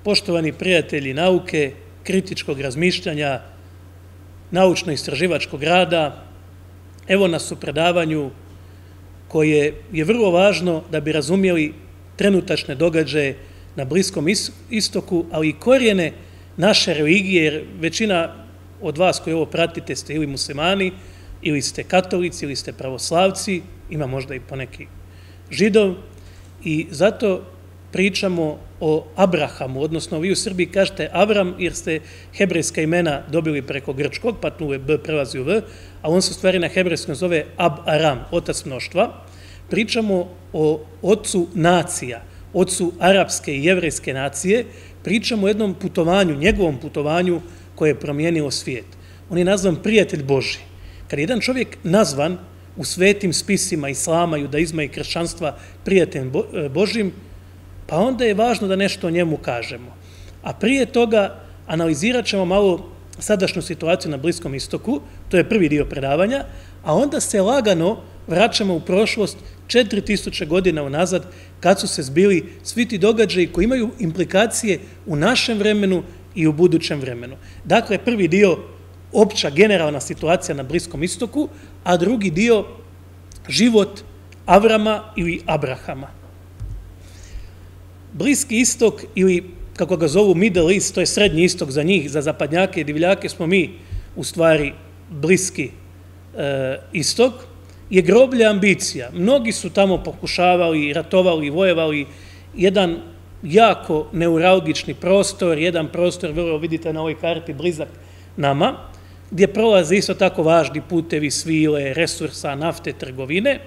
Poštovani prijatelji nauke, kritičkog razmišljanja, naučno-istraživačkog rada, evo nas u predavanju koje je vrlo važno da bi razumjeli trenutačne događaje na Bliskom istoku, ali i korijene naše religije, jer većina od vas koji ovo pratite ste ili muslimani, ili ste katolici, ili ste pravoslavci, ima možda i poneki židov, i zato pričamo o Abrahamu, odnosno vi u Srbiji kažete Avram jer ste hebrejska imena dobili preko grčkog, pa tu je B prelazi u V, a on se u stvari na hebrejskom zove Ab-Aram, otac mnoštva. Pričamo o ocu nacija, ocu arapske i jevrejske nacije, pričamo o jednom putovanju, njegovom putovanju koje je promijenilo svijet. On je nazvan prijatelj Božji. Kad je jedan čovjek nazvan u svetim spisima islama, judaizma i kršćanstva prijateljem Božjim, pa onda je važno da nešto o njemu kažemo. A prije toga analizirat ćemo malo sadašnju situaciju na Bliskom istoku, to je prvi dio predavanja, a onda se lagano vraćamo u prošlost 4000 godina unazad, kad su se zbili svi ti događaji koji imaju implikacije u našem vremenu i u budućem vremenu. Dakle, prvi dio opća generalna situacija na Bliskom istoku, a drugi dio život Avrama ili Abrahama. Bliski istok, ili kako ga zovu Middle East, to je srednji istok za njih, za zapadnjake i divljake smo mi u stvari Bliski istok, je groblje ambicija. Mnogi su tamo pokušavali, ratovali, vojevali, jedan jako neuralgični prostor, jedan prostor, vrlo vidite na ovoj karti, blizak nama, gdje prolaze isto tako važni putevi, svile, resursa, nafte, trgovine.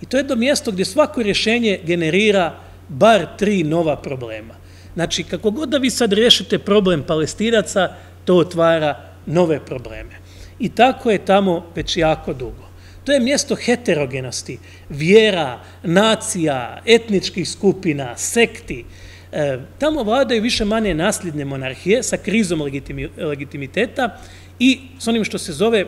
I to je jedno mjesto gdje svako rješenje generira bar 3 nova problema. Znači, kako god da vi sad riješite problem Palestinaca, to otvara nove probleme. I tako je tamo već jako dugo. To je mjesto heterogenosti, vjera, nacija, etničkih skupina, sekti. Tamo vladaju više manje nasljedne monarhije sa krizom legitimiteta i s onim što se zove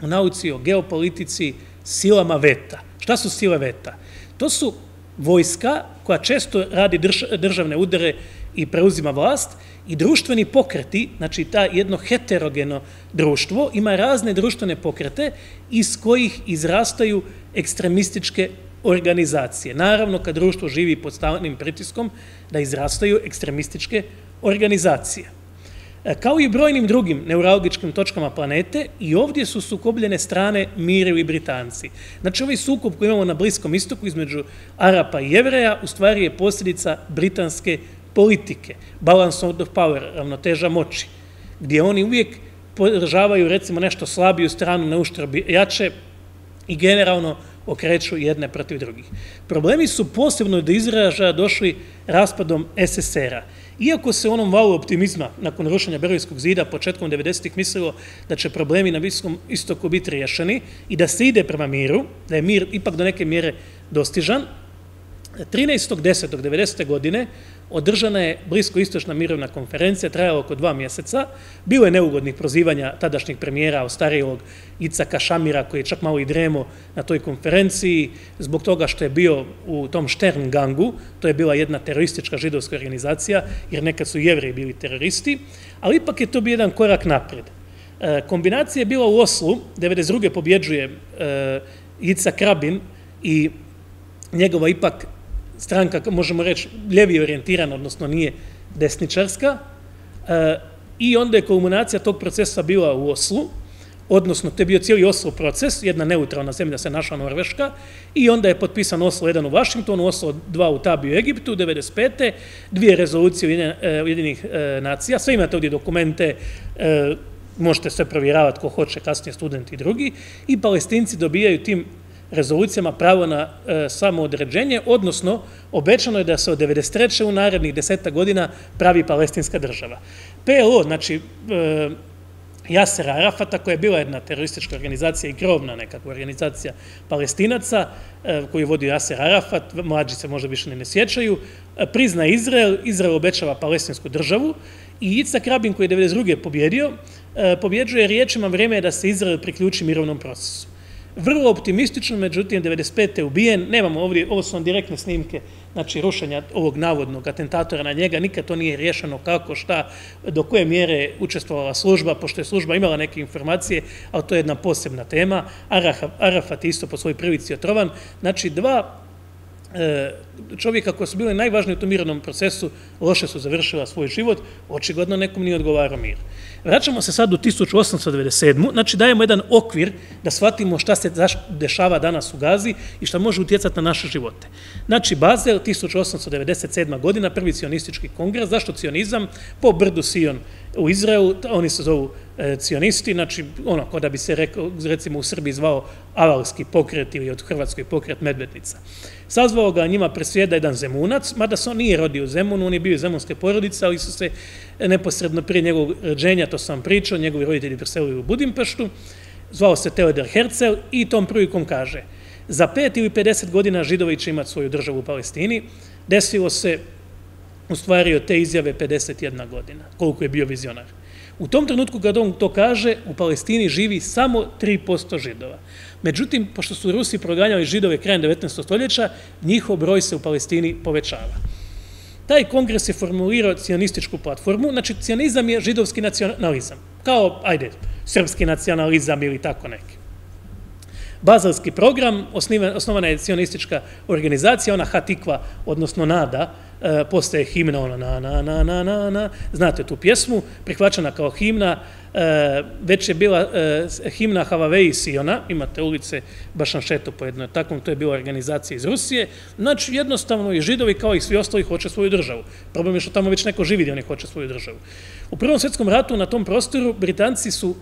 u nauci o geopolitici silama veta. Šta su sile veta? To su vojska koja često radi državne udare i preuzima vlast i društveni pokreti, znači ta jedno heterogeno društvo, ima razne društvene pokrete iz kojih izrastaju ekstremističke organizacije. Naravno, kad društvo živi pod stalnim pritiskom, da izrastaju ekstremističke organizacije. Kao i brojnim drugim neuralgičkim točkama planete, i ovdje su sukobljene strane Mir i Britanci. Znači, ovaj sukob koji imamo na Bliskom istoku između Arapa i Jevreja u stvari je posljedica britanske politike, balance of power, ravnoteža moći, gdje oni uvijek podržavaju recimo nešto slabiju stranu na uštrb jače i generalno okreću jedne protiv drugih. Problemi su posebno do izražaja došli raspadom SSR-a. Iako se u onom valu optimizma nakon rušenja Berlinskog zida početkom 90-ih mislilo da će problemi na Bliskom istoku biti riješeni i da se ide prema miru, da je mir ipak do neke mjere dostižan, 13.10.90. godine održana je Bliskoistočna mirovna konferencija, trajala oko 2 mjeseca. Bilo je neugodnih prozivanja tadašnjeg premijera, ostarijevog Icaka Šamira, koji je čak malo i dremo na toj konferenciji, zbog toga što je bio u tom Stern gangu, to je bila jedna teroristička židovska organizacija, jer nekad su Jevreji bili teroristi, ali ipak je to bio jedan korak naprijed. Kombinacija je bila u Oslu, 1992. pobjeđuje Icak Rabin i njegova ipak stranka, možemo reći, ljevije orijentirana, odnosno nije desničarska, i onda je kulminacija tog procesa bila u Oslu, odnosno to je bio cijeli Oslo proces, jedna neutralna zemlja se našla Norveška, i onda je potpisan Oslo 1 u Vašingtonu, Oslo 2 u Tabi u Egiptu, 1995. 2 rezolucije Ujedinjenih nacija, sve imate ovdje dokumente, možete sve provjeravati ko hoće, kasnije studenti i drugi, i Palestinci dobijaju tim rezolucijama pravo na samoodređenje, odnosno obećano je da se od 1993. u narednih 10 godina pravi palestinska država. PLO, znači Jasera Arafata, koja je bila jedna teroristička organizacija i krovna nekakva organizacija Palestinaca, koju vodi Jaser Arafat, mlađi se možda više ne sjećaju, prizna Izrael, Izrael obećava palestinsku državu i Icak Rabin, koji je 1992. pobjeđuje riječima vrijeme je da se Izrael priključi mirovnom procesu. vrlo optimistično, međutim 95. je ubijen, nemamo ovdje, ovo su vam direktne snimke, znači rušenja ovog navodnog atentatora na njega, nikad to nije riješeno kako, šta, do koje mjere je učestvovala služba, pošto je služba imala neke informacije, ali to je jedna posebna tema. Arafat isto po svojoj prilici otrovan, znači dva čovjeka koji su bili najvažniji u tom mirovnom procesu loše su završila svoj život, očigledno nekom nije odgovarao mir. Vraćamo se sad u 1897. Znači dajemo jedan okvir da shvatimo šta se dešava danas u Gazi i šta može utjecati na naše živote. Znači Bazel, 1897. godina, prvi cionistički kongres. Zašto cionizam? Po brdu Sion u Izraelu, oni se zovu cionisti, znači ono, kao da bi se recimo u Srbiji zvao avalski pokret ili od Hrvatskoj pokret Medvednica. Sazvao ga njima presjeda jedan Zemunac, mada se on nije rodio u Zemunu, on je bio iz zemunske porodice, ali su se neposredno prije njegovog rođenja, to sam pričao, njegovi roditelji preselili u Budimpeštu, zvao se Theodor Herzl i tom prilikom kaže: za 5 ili 50 godina Židovi će imati svoju državu u Palestini. Desilo se u stvari od te izjave 51 godina, koliko je bio vizionar. U tom trenutku kad on to kaže, u Palestini živi samo 3% Židova. Međutim, pošto su Rusi proganjali Židove krajem 19. stoljeća, njihov broj se u Palestini povećava. Taj kongres je formulirao cionističku platformu, znači cionizam je židovski nacionalizam, kao, ajde, srpski nacionalizam ili tako neki. Bazelski program, osnovana je cionistička organizacija, ona Hatikva, odnosno Nada, postaje himna, ono na, znate tu pjesmu, prihvaćena kao himna, već je bila himna Havaveji Siona, imate ulice Bašanšetu po jednoj takvom, to je bila organizacija iz Rusije, znači jednostavno i Židovi kao i svi ostali hoće svoju državu. Problem je što tamo već neko živi gdje oni hoće svoju državu. U Prvom svjetskom ratu na tom prostoru Britanci su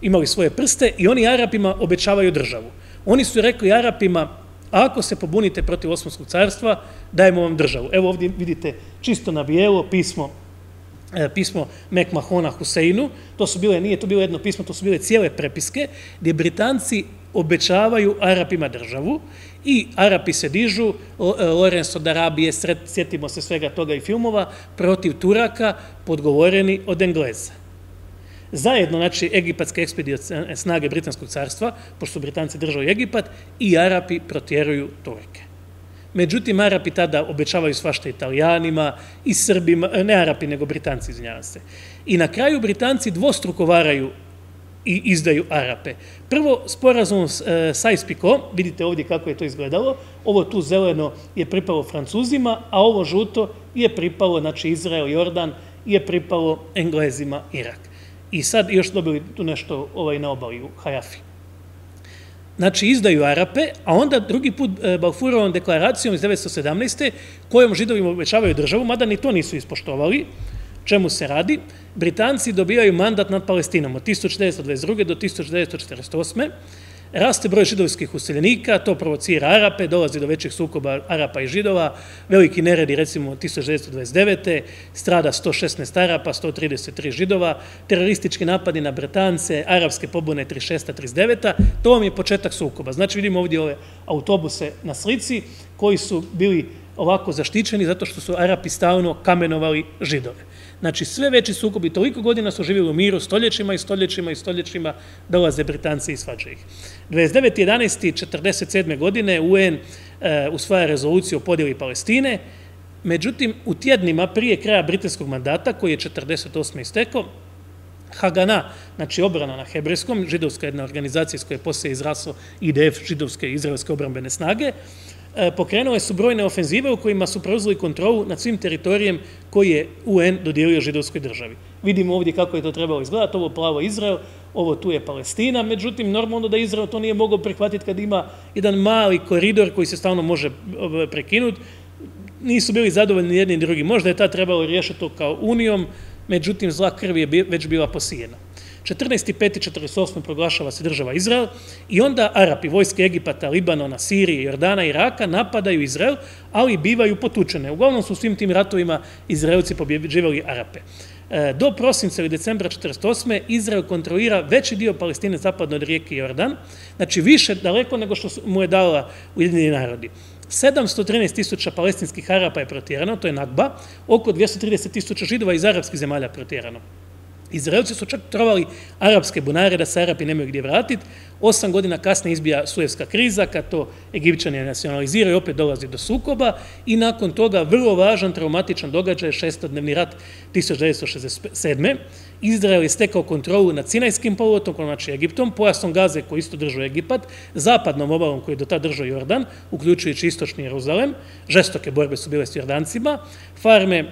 imali svoje prste i oni Arapima obećavaju državu. Oni su rekli Arapima: ako se pobunite protiv Osmanskog carstva, dajemo vam državu. Evo ovdje vidite čisto na bijelo pismo Mekmahona Huseinu. To su bile, nije to bilo jedno pismo, to su bile cijele prepiske gdje Britanci obećavaju Arapima državu i Arapi se dižu, Lorenzo d'Arabije, sjetimo se svega toga i filmova, protiv Turaka, podgovoreni od Engleza. Zajedno, znači, egipatske ekspedicionalne snage Britanskog carstva, pošto su Britanci držali Egipat, i Arapi protjeruju Turke. Međutim, Arapi tada obećavaju svašta Italijanima i Srbima, ne Arapi, nego Britanci, izvinjavam se. I na kraju Britanci dvostruko varaju i izdaju Arape. Prvo, sporazum Sykes-Picot, vidite ovdje kako je to izgledalo, ovo tu zeleno je pripalo Francuzima, a ovo žuto je pripalo, znači Izrael, Jordan, je pripalo Englezima, Irak. I sad još dobili tu nešto na obali u Hajafi. Znači, izdaju Arape, a onda drugi put Balfourovom deklaracijom iz 1917. kojom Židovima obećavaju državu, mada ni to nisu ispoštovali. Čemu se radi? Britanci dobijaju mandat nad Palestinom od 1922. do 1948. Raste broj židovskih useljenika, to provocira Arape, dolazi do većih sukoba Arapa i Židova, veliki neredi, recimo 1929. strada 116 Arapa, 133 Židova, teroristički napadi na Bretance, arapske pobune 36-39, to vam je početak sukoba. Znači vidimo ovdje ove autobuse na slici koji su bili ovako zaštićeni zato što su Arapi stalno kamenovali Židove. Znači sve veći sukobi, toliko godina su živjeli u miru, stoljećima i stoljećima i stoljećima, dolaze Britanci i svađaju ih. 29.11.47. godine UN usvaja rezoluciju o podjeli Palestine, međutim u tjednima prije kraja britanskog mandata, koji je 1948. istekao, Hagana, znači obrana na hebrejskom, židovska jedna organizacija iz koje je poslije izraslo IDF, židovske i izraelske obrambene snage, pokrenule su brojne ofenzive u kojima su preuzeli kontrolu nad svim teritorijem koji je UN dodijelio židovskoj državi. Vidimo ovdje kako je to trebalo izgledati, ovo plavo Izrael, ovo tu je Palestina, međutim normalno da Izrael to nije mogao prihvatiti kad ima jedan mali koridor koji se stalno može prekinuti. Nisu bili zadovoljni jedni i drugi. Možda je tad trebalo riješiti to kao unijom, međutim zla krv je već bila posijena. 14.5.1948. proglašava se država Izrael i onda Arapi, vojske Egipata, Libanona, Sirije, Jordana i Iraka napadaju Izrael, ali bivaju potučene. Uglavnom su u svim tim ratovima Izraelci pobjeđivali Arape. Do prosinca ili decembra 1948. Izrael kontrolira veći dio Palestine zapadno od rijeke Jordan, znači više daleko nego što mu je dala Ujedinjeni narodi. 713.000 palestinskih Arapa je protjerano, to je Nakba, oko 230.000 Židova iz arapskih zemalja protjerano. Izraelci su čak trovali arapske bunare da se Arapi nemaju gdje vratiti. 8 godina kasnije izbija Suezka kriza, kad to Egipćani nacionaliziraju, opet dolazi do sukoba i nakon toga vrlo važan traumatičan događaj, šestodnevni rat 1967. Izrael je stekao kontrolu nad Sinajskim poluotokom, znači Egiptom, pojasom Gaze koji isto držao Egipat, zapadnom obalom koji je do tada držao Jordan, uključujući istočni Jeruzalem, žestoke borbe su bile s Jordancima, farme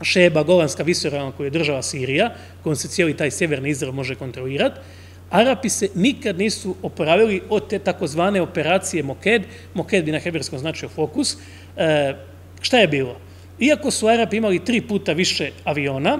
Šeba, Golanska visoravan koju je država Sirija, kojom se cijeli taj sjeverni Izrael može kontrolirati. Arapi se nikad nisu oporavili od te takozvane operacije Moked. Moked bi na hebrejskom značio fokus. Šta je bilo? Iako su Arapi imali 3 puta više aviona,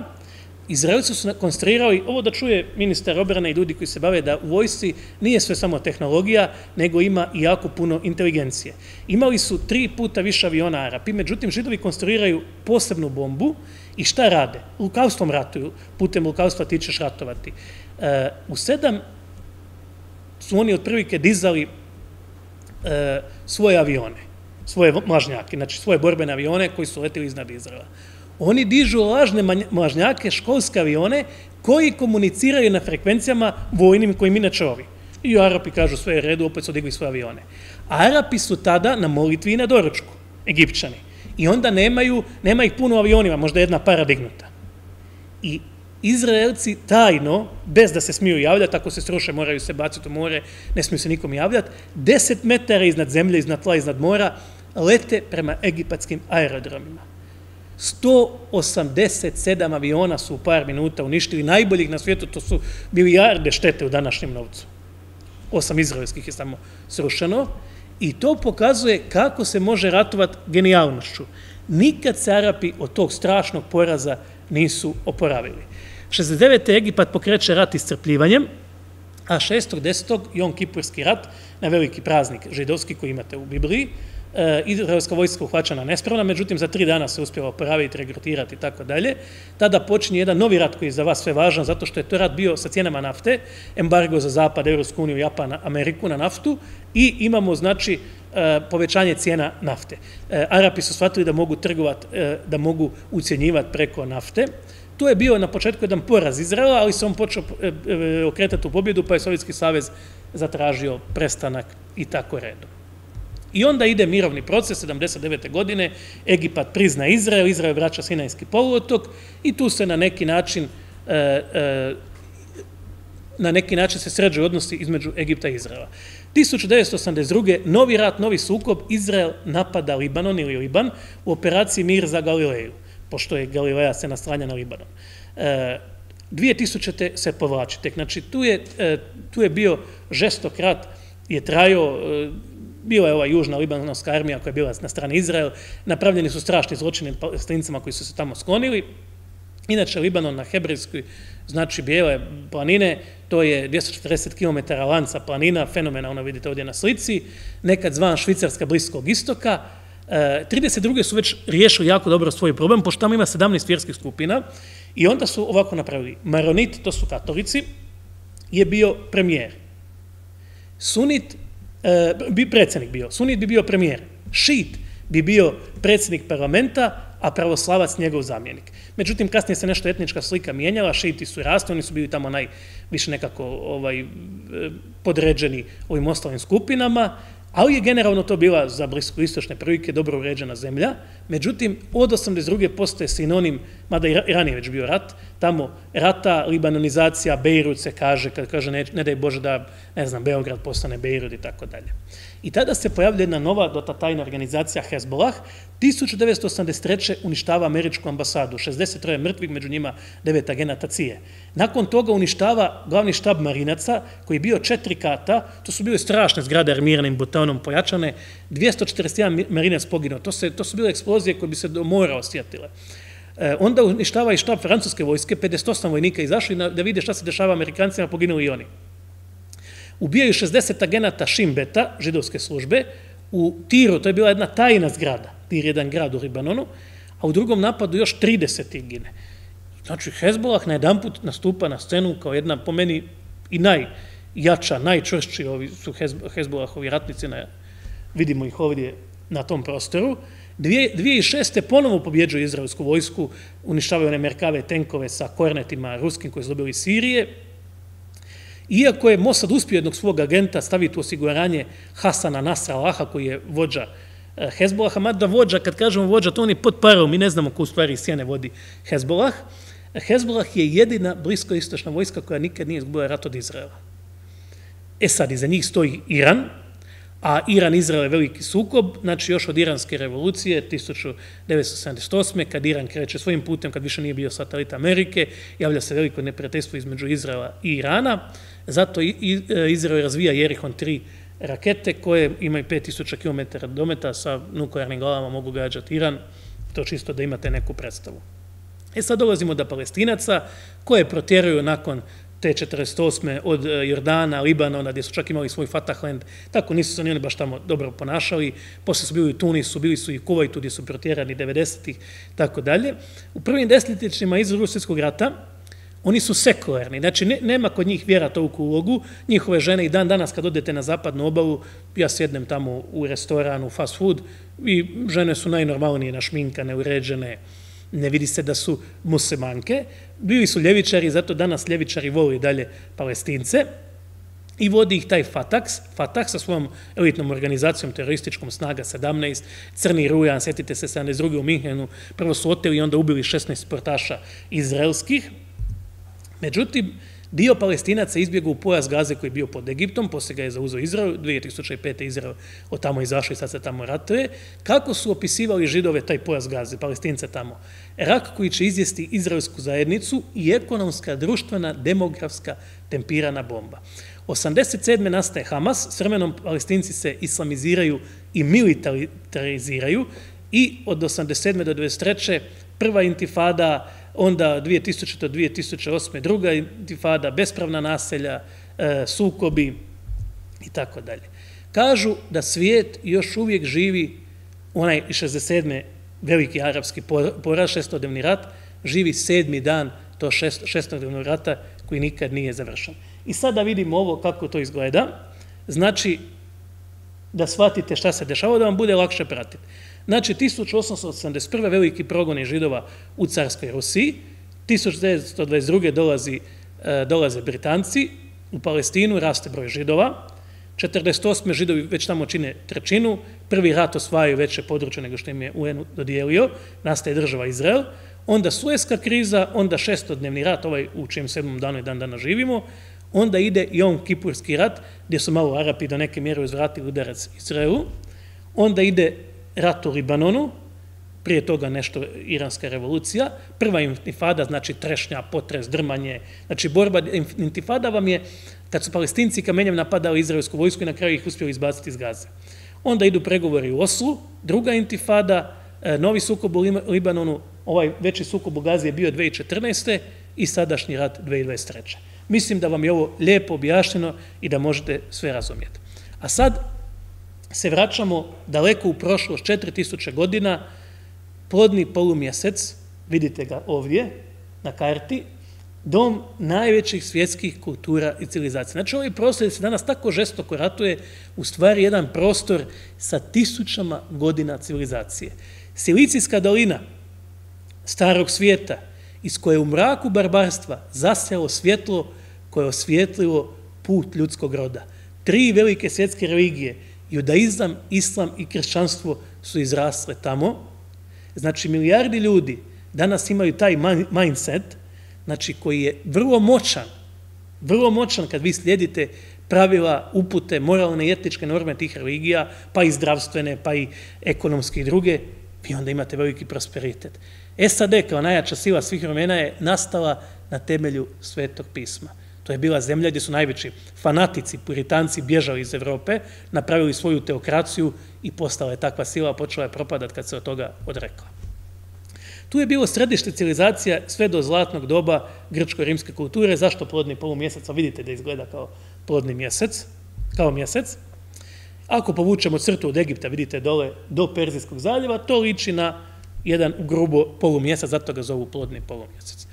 Izraelci su konstruirali, ovo da čuje ministar obrane i ljudi koji se bave, da u vojsci nije sve samo tehnologija, nego ima i jako puno inteligencije. Imali su 3 puta više aviona Arapi, međutim Židovi konstruiraju posebnu bombu i šta rade? Lukavstvom ratuju, putem lukavstva ti ćeš ratovati. U 7 su oni otprilike dizali svoje avione, svoje mlažnjake, znači svoje borbene avione koji su letili iznad Izraela. Oni dižu lažne mlažnjake, školske avione, koji komuniciraju na frekvencijama vojnim kojim inače ovi. I Arapi kažu sve je redu, opet su digli svoje avione. Arapi su tada na molitvi i na doručku, Egipćani. I onda nema ih puno avionima, možda jedna para dignuta. I Izraelci tajno, bez da se smiju javljati, ako se sruše moraju se baciti u more, ne smiju se nikom javljati, 10 metara iznad zemlje, iznad tla, iznad mora, lete prema egipatskim aerodromima. 187 aviona su u par minuta uništili, najboljih na svijetu, to su milijarde štete u današnjem novcu. 8 izraelskih je samo srušeno i to pokazuje kako se može ratovati genijalnošću. Nikad se Arapi od tog strašnog poraza nisu oporavili. 69. Egipat pokreće rat iscrpljivanjem, a 6.10. Jom Kipurski rat, na veliki praznik židovski koji imate u Bibliji, izraelska vojska uhvaćena nespravna, međutim za 3 dana se uspjela oporaviti, regrutirati i tako dalje. Tada počinje jedan novi rat koji je za vas sve važan, zato što je to rat bio sa cijenama nafte, embargo za Zapad, Evropsku uniju, Japan, Ameriku na naftu i imamo znači povećanje cijena nafte. Arapi su shvatili da mogu trgovati, da mogu ucjenjivati preko nafte. To je bio na početku jedan poraz Izraela, ali se on počeo okretati u pobjedu, pa je Sovjetski savez zatražio prestanak i tako redom. I onda ide mirovni proces, 79. godine, Egipat prizna Izrael, Izrael vraća Sinajski poluotok i tu se na neki način se sređuju odnosi između Egipta i Izraela. 1982. novi rat, novi sukob, Izrael napada Libanon ili Liban u operaciji Mir za Galileju, pošto je Galileja se naslanja na Libanon. 2000. se povlači tek, znači tu je bio žestok rat, je trajao, bila je ova južna libanonska armija koja je bila na strani Izrael, napravljeni su strašni zločini Palestincima koji su se tamo sklonili. Inače, Libanon na hebrejskoj znači bijele planine, to je 240 km lanca planina, fenomenalno vidite ovdje na slici, nekad zvan Švicarska Bliskog istoka. 32. su već riješili jako dobro svoj problem, pošto tamo ima 17 vjerskih skupina i onda su ovako napravili. Maronit, to su katolici, je bio premijer. Sunit, predsjednik bio. Sunit bi bio premijer. Šit bi bio predsjednik parlamenta, a pravoslavac njegov zamjenik. Međutim, kasnije se nešto etnička slika mijenjala, šiti su rasli, oni su bili tamo najviše nekako podređeni ovim ostalim skupinama, ali je generalno to bila za bliskoistočne prilike dobro uređena zemlja. Međutim, od 82. postaje sinonim, mada i ranije već bio rat, tamo rata, libanonizacija, Bejrut se kaže, kad kaže ne daj Bože da, ne znam, Beograd postane Bejrut i tako dalje. I tada se pojavlja jedna nova dotatajna organizacija Hezbollah, 1983. uništava američku ambasadu, 63 mrtvih, među njima 9 agenata CIA. Nakon toga uništava glavni štab marinaca, koji je bio 4 kata, to su bile strašne zgrade armiranim betonom pojačane, 241 marinac poginuo, to su bile eksplozije koje bi se do mora osjetile. Onda uništava i štab francuske vojske, 58 vojnika izašli da vide šta se dešava Amerikancima, poginuli i oni. Ubijaju 60 agenata Šimbeta, židovske službe, u Tiru, to je bila jedna tajna zgrada, Tir je jedan grad u Libanonu, a u drugom napadu još 30 gine. Znači, Hezbollah na jedan put nastupa na scenu kao jedna, po meni, i najjača, najčvršći ovi su Hezbollahovi ratnici, vidimo ih ovdje na tom prostoru. 2006. ponovo pobjeđuju izraelsku vojsku, uništavaju one Merkave tenkove sa kornetima ruskim koji su dobili iz Sirije. Iako je Mossad uspio jednog svog agenta staviti u osiguranje Hasana Nasrallaha, koji je vođa Hezbolaha, mada vođa, kad kažemo vođa, to on je pod parom, mi ne znamo ko u stvari iz sjene vodi Hezbolah. Hezbolah je jedina bliskoistočna vojska koja nikad nije izgubila rat od Izraela. Sad, iza njih stoji Iran, a Iran-Izrael je veliki sukob, znači još od iranske revolucije 1978. kad Iran kreće svojim putem, kad više nije bio satelit Amerike, javlja se veliko neprijateljstvo između Izraela i Irana, zato Izrael razvija Jerihon 3 rakete koje imaju 5000 km dometa sa nuklearnim glavama, mogu gađati Iran, to čisto da imate neku predstavu. Sad dolazimo do Palestinaca koje protjeruju nakon te 48. od Jordana, Libanona, gdje su čak imali svoj Fatahland, tako nisu se oni baš tamo dobro ponašali, poslije su bili u Tunisu, bili su i u Kuvajtu gdje su protjerani 90-ih, tako dalje. U prvim desetljećima iz Drugog svjetskog rata oni su sekularni, znači nema kod njih vjera toliku ulogu, njihove žene i dan danas kad odete na zapadnu obalu, ja sjednem tamo u restoranu, fast food, i žene su najnormalnije našminkane, uređene, ne vidi se da su muslimanke, bili su ljevičari, zato danas ljevičari voli dalje Palestince i vodi ih taj Fatah sa svojom elitnom organizacijom terorističkom Snaga 17, Crni rujan, sjetite se 72. u Minhenu, prvo su oteli i onda ubili 16 sportaša izraelskih. Međutim, dio Palestinaca izbjegao u pojas Gaze koji je bio pod Egiptom, poslije ga je zauzeo Izrael, 2005. Izrael od tamo izašao i sad se tamo ratuje. Kako su opisivali Židove taj pojas Gaze, Palestince tamo? Rak koji će izjesti izraelsku zajednicu i ekonomska, društvena, demografska tempirana bomba. 87. nastaje Hamas, s vremenom Palestinci se islamiziraju i militariziraju i od 87. do 93. prva intifada, onda 2000. do 2008. druga intifada, bespravna naselja, sukobi i tako dalje. Kažu da svijet još uvijek živi, onaj 67. veliki arapski poraz, šestodnevni rat, živi 7. dan to šestodnevnog rata koji nikad nije završen. I sada vidimo ovo kako to izgleda, znači da shvatite šta se dešava, da vam bude lakše pratiti. Znači, 1881. veliki progoni Židova u carskoj Rusiji, 1922. dolaze Britanci, u Palestinu raste broj Židova, 1948. Židovi već tamo čine trećinu, prvi rat osvajaju veće područje nego što im je UN dodijelio, nastaje država Izrael, onda Suezka kriza, onda šestodnevni rat, ovaj u čijem 7. danu i dan danas živimo, onda ide Jom Kipurski rat, gdje su malo Arapi do neke mjere uzvratili udarac Izraelu, onda ide rat u Libanonu, prije toga nešto iranska revolucija, prva intifada, znači trešnja, potres, drmanje, znači borba, intifada vam je kad su Palestinci kamenjem napadali izraelsku vojsku i na kraju ih uspjeli izbaciti iz Gaze. Onda idu pregovori u Oslu, druga intifada, novi sukob u Libanonu, ovaj veći sukob u Gazi je bio 2014. i sadašnji rat 2023. Mislim da vam je ovo lijepo objašnjeno i da možete sve razumjeti. A sad se vraćamo daleko u prošlost, 4000 godina, plodni polumjesec, vidite ga ovdje na karti, dom najvećih svjetskih kultura i civilizacija. Znači, ovaj prostor se danas tako žestoko ratuje, u stvari jedan prostor sa 1000 godina civilizacije. Silicijska dolina starog svijeta, iz koje u mraku barbarstva zasjalo svjetlo koje je osvijetlilo put ljudskog roda. 3 velike svjetske religije, judaizam, islam i kršćanstvo, su izrasle tamo. Znači, milijardi ljudi danas imaju taj mindset, znači koji je vrlo moćan kad vi slijedite pravila, upute, moralne i etičke norme tih religija, pa i zdravstvene, pa i ekonomske i druge, vi onda imate veliki prosperitet. SAD kao najjača sila svih vremena je nastala na temelju Svetog pisma. To je bila zemlja gdje su najveći fanatici, puritanci bježali iz Evrope, napravili svoju teokraciju i postala je takva sila, počela je propadati kad se od toga odrekla. Tu je bilo središte civilizacija sve do zlatnog doba grčko-rimske kulture. Zašto plodni polumjesec? Vidite da izgleda kao plodni mjesec, kao mjesec. Ako povučemo crtu od Egipta, vidite dole, do Perzijskog zaljeva, to liči na jedan grubo polumjesec, zato ga zovu plodni polumjesec.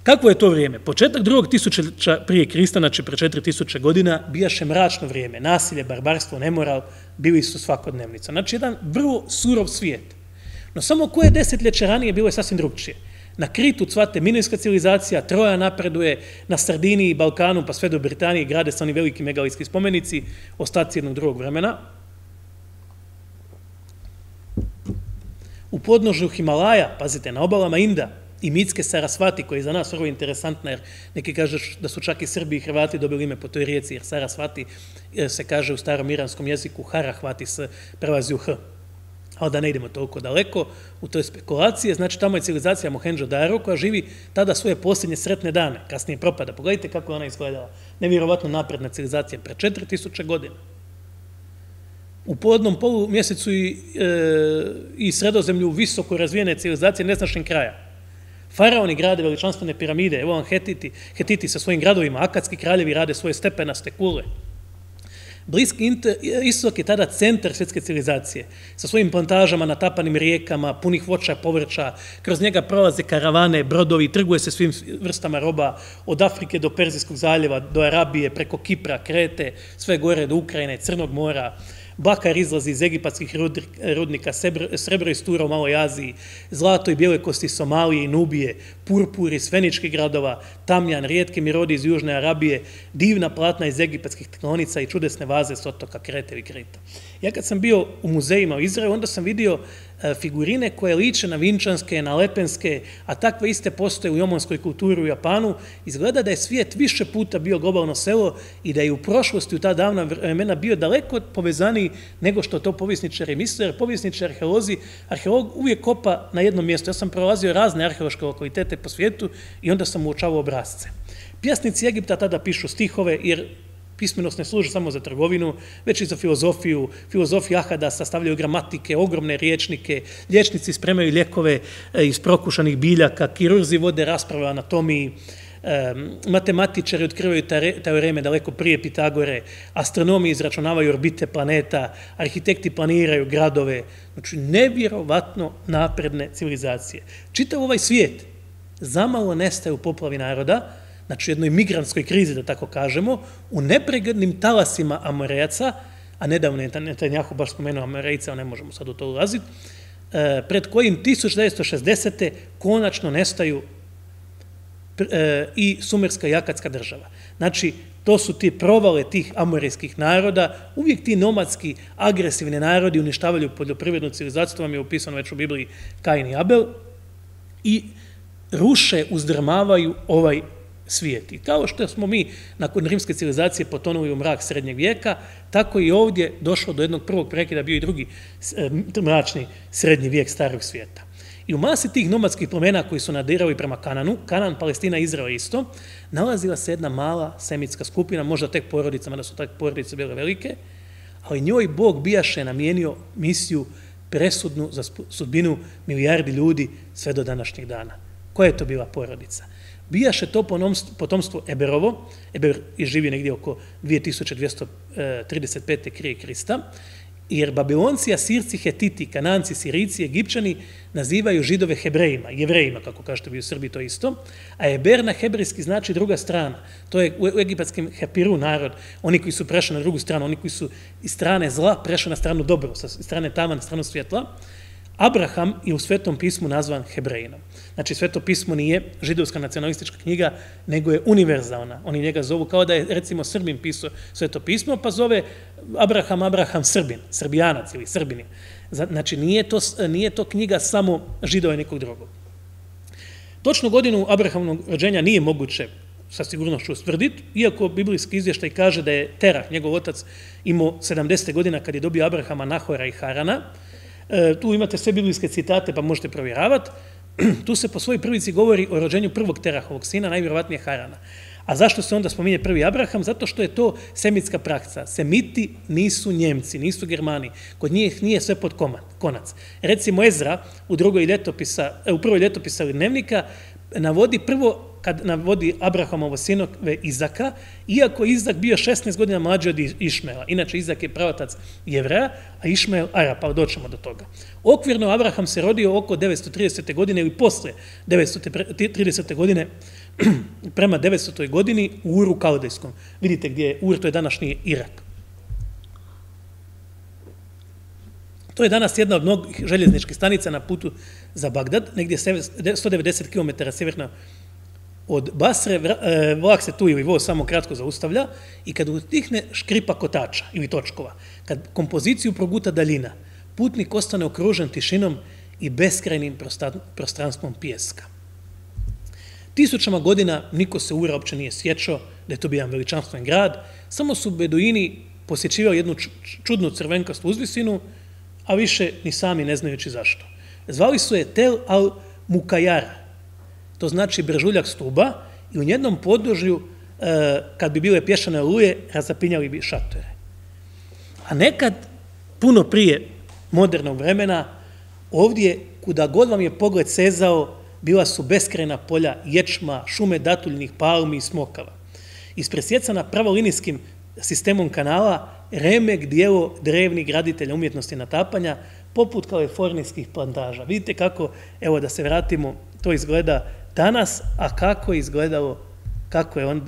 Kakvo je to vrijeme? Početak drugog tisućljeća prije Krista, znači pre 4000 godina, bijaše mračno vrijeme. Nasilje, barbarstvo, nemoral bili su svakodnevnica. Znači, jedan vrlo surov svijet. No samo koje desetljeće ranije bilo je sasvim drugčije. Na Kritu cvate minojska civilizacija, Troja napreduje, na Sardiniji, Balkanu, pa sve do Britanije grade se oni veliki megalitski spomenici, ostaci jednog drugog vremena. U podnožju Himalaja, pazite, na obalama Inda i mitske Sarasvati, koja je za nas vrlo interesantna, jer neki kažu da su čak i Srbi i Hrvati dobili ime po toj rijeci, jer Sarasvati se kaže u starom iranskom jeziku Harahvati se prelazi u H. Ali da ne idemo toliko daleko u toj spekulacije, znači tamo je civilizacija Mohendžo-Daro koja živi tada svoje posljednje sretne dane, kasnije propada. Pogledajte kako je ona izgledala. Nevjerovatno napredna civilizacija pre 4000 godina. U podnom polumjesecu i Sredozemlju visoko razvijene civilizacije neznačnih kraja. Faraoni grade veličanstvene piramide, evo vam Hetiti sa svojim gradovima, akatski kraljevi rade svoje stepenaste kule. Bliski istok je tada centar svjetske civilizacije, sa svojim plantažama, natapanim rijekama, punih voća, povrća, kroz njega prolaze karavane, brodovi, trguje se svim vrstama roba, od Afrike do Perzijskog zaljeva, do Arabije, preko Kipra, Krete, sve gore do Ukrajine, Crnog mora. Bakar izlazi iz egipatskih rudnika, srebro iz Tura u Maloj Aziji, zlato i bijele kosti iz Somalije i Nubije, purpur iz feničkih gradova, tamjan, rijetke mirodi iz Južne Arabije, divna platna iz egipatskih tektonica i čudesne vaze s otoka Krete i Krita. Ja kad sam bio u muzejima u Izraelu, onda sam vidio figurine koje liče na vinčanske, na lepenske, a takve iste postoje u jomonskoj kulturi u Japanu. Izgleda da je svijet više puta bio globalno selo i da je u prošlosti, u ta davna vremena, bio daleko povezaniji nego što to povjesničari misle, jer povjesničari, arheolog uvijek kopa na jednom mjestu. Ja sam prolazio razne arheološke lokalitete po svijetu i onda sam uočavao obrazce. Pjesnici Egipta tada pišu stihove, jer pismenost ne služi samo za trgovinu, već i za filozofiju. Filozofi Ahada sastavljaju gramatike, ogromne riječnike, liječnici spremaju lijekove iz prokušanih biljaka, kirurzi vode rasprave o anatomiji, matematičari otkrivaju teoreme daleko prije Pitagore, astronomi izračunavaju orbite planeta, arhitekti planiraju gradove. Znači, nevjerovatno napredne civilizacije. Čitav ovaj svijet zamalo nestaje u poplavi naroda, znači u jednoj migrantskoj krizi, da tako kažemo, u nepreglednim talasima Amorejaca, a nedavno je Netanjahu baš spomenuo Amorejca, ne možemo sad u to ulaziti, pred kojim 1960. konačno nestaju i sumerska i akatska država. Znači, to su ti provale tih amorejskih naroda, uvijek ti nomadski, agresivni narodi uništavaju poljoprivrednu civilizaciju, to vam je upisano već u Bibliji Kain i Abel, i ruše, uzdrmavaju ovaj svijet. I kao što smo mi nakon rimske civilizacije potonuli u mrak srednjeg vijeka, tako i ovdje došlo do jednog prvog prekida, bio i drugi mračni srednji vijek starog svijeta. I u masi tih nomadskih plemena koji su nadirali prema Kananu, Kanan, Palestina, Izrael isto, nalazila se jedna mala semitska skupina, možda tek porodica, mada su takve porodice bile velike, ali njoj Bog bijaše namijenio misiju presudnu za sudbinu milijardi ljudi sve do današnjeg dana. Koja je to bila porodica? Bijaše to potomstvo Eberovo, Eber je živio negdje oko 2235. krije Krista, jer Babilonci, Asirci, Hetiti, Kananci, Sirijci, Egipćani nazivaju Židove Hebrejima, Jevrejima, kako kažete vi u Srbiji, to isto, a Eber na hebrejski znači druga strana. To je u egipatskim Hepiru narod, oni koji su prešli na drugu stranu, oni koji su iz strane zla prešli na stranu dobro, sa strane tama na stranu svjetla. Abraham je u Svetom pismu nazvan Hebrejinom. Znači, Sveto pismo nije židovska nacionalistička knjiga, nego je univerzalna. Oni njega zovu kao da je, recimo, Srbin pisao Sveto pismo, pa zove Abraham Srbin, Srbijanac ili Srbinin. Znači, nije to knjiga samo Židova i nekog drugog. Točnu godinu Abrahamovog rođenja nije moguće sa sigurnošću ustvrditi, iako biblijski izvještaj kaže da je Terah, njegov otac, imao 70. godina kad je dobio Abrahama, Nahora i Harana. Tu imate sve biblijske citate, pa možete provjeravati. Tu se po svojoj prvici govori o rođenju prvog Terahovog sina, najvjerovatnije Harana. A zašto se onda spominje prvi Abraham? Zato što je to semitska praksa. Semiti nisu Njemci, nisu Germani. Kod njih nije sve pod konac. Recimo Ezra u prvoj ljetopisa dnevnika navodi prvo, kad navodi Abrahamovo sinove Izaka, iako Izak bio 16 godina mlađi od Išmaela. Inače, Izak je pravotac Jevreja, a Išmael Arapa, ali doćemo do toga. Okvirno, Abraham se rodio oko 930. godine ili posle 930. godine, prema 900. godini u Uru Kaldejskom. Vidite gdje je Ur, to je današnji Irak. To je danas jedna od mnogih željezničkih stanica na putu za Bagdad, negdje 190 km sjeverno od Basre, vlak se tu ili voz samo kratko zaustavlja i kad utihne škripa kotača ili točkova, kad kompoziciju proguta daljina, putnik ostane okružen tišinom i beskrajnim prostranstvom pijeska. Tisućama godina niko se Ura uopće nije sjećao da je to bio jedan veličanstven grad, samo su beduini posjećivali jednu čudnu crvenkastu uzvisinu, a više ni sami ne znajući zašto. Zvali su je Tel al-Mukajara, to znači brežuljak stuba, i u njednom podružju, kad bi bile pješane oluje, razapinjali bi šatore. A nekad, puno prije modernog vremena, ovdje, kuda god vam je pogled sezao, bila su beskrajna polja ječma, šume datuljnih palmi i smokava. Ispresjecana pravolinijskim sistemom kanala, remek dijelo drevnih graditelja umjetnosti natapanja, poput kalifornijskih plantaža. Vidite kako, evo da se vratimo, to izgleda danas, a kako je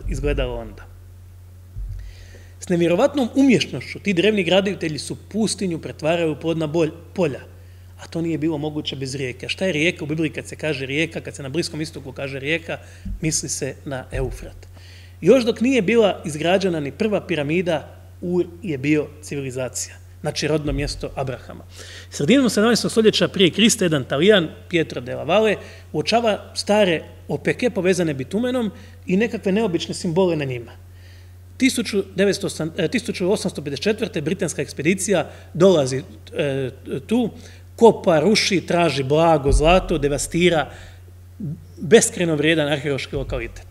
izgledalo onda. S nevjerovatnom umješnošću ti drevni graditelji su pustinju pretvarali u plodna polja, a to nije bilo moguće bez rijeke. Šta je rijeka u Bibliji kad se kaže rijeka, kad se na Bliskom istoku kaže rijeka, misli se na Eufrat. Još dok nije bila izgrađena ni prva piramida, Ur je bio civilizacija, znači rodno mjesto Abrahama. Sredinom 17. stoljeća prije Krista jedan Talijan, Pietro della Valle, uočava stare opeke povezane bitumenom i nekakve neobične simbole na njima. 1854. britanska ekspedicija dolazi tu, kopa, ruši, traži blago, zlato, devastira beskrajno vrijedan arheološki lokalitet.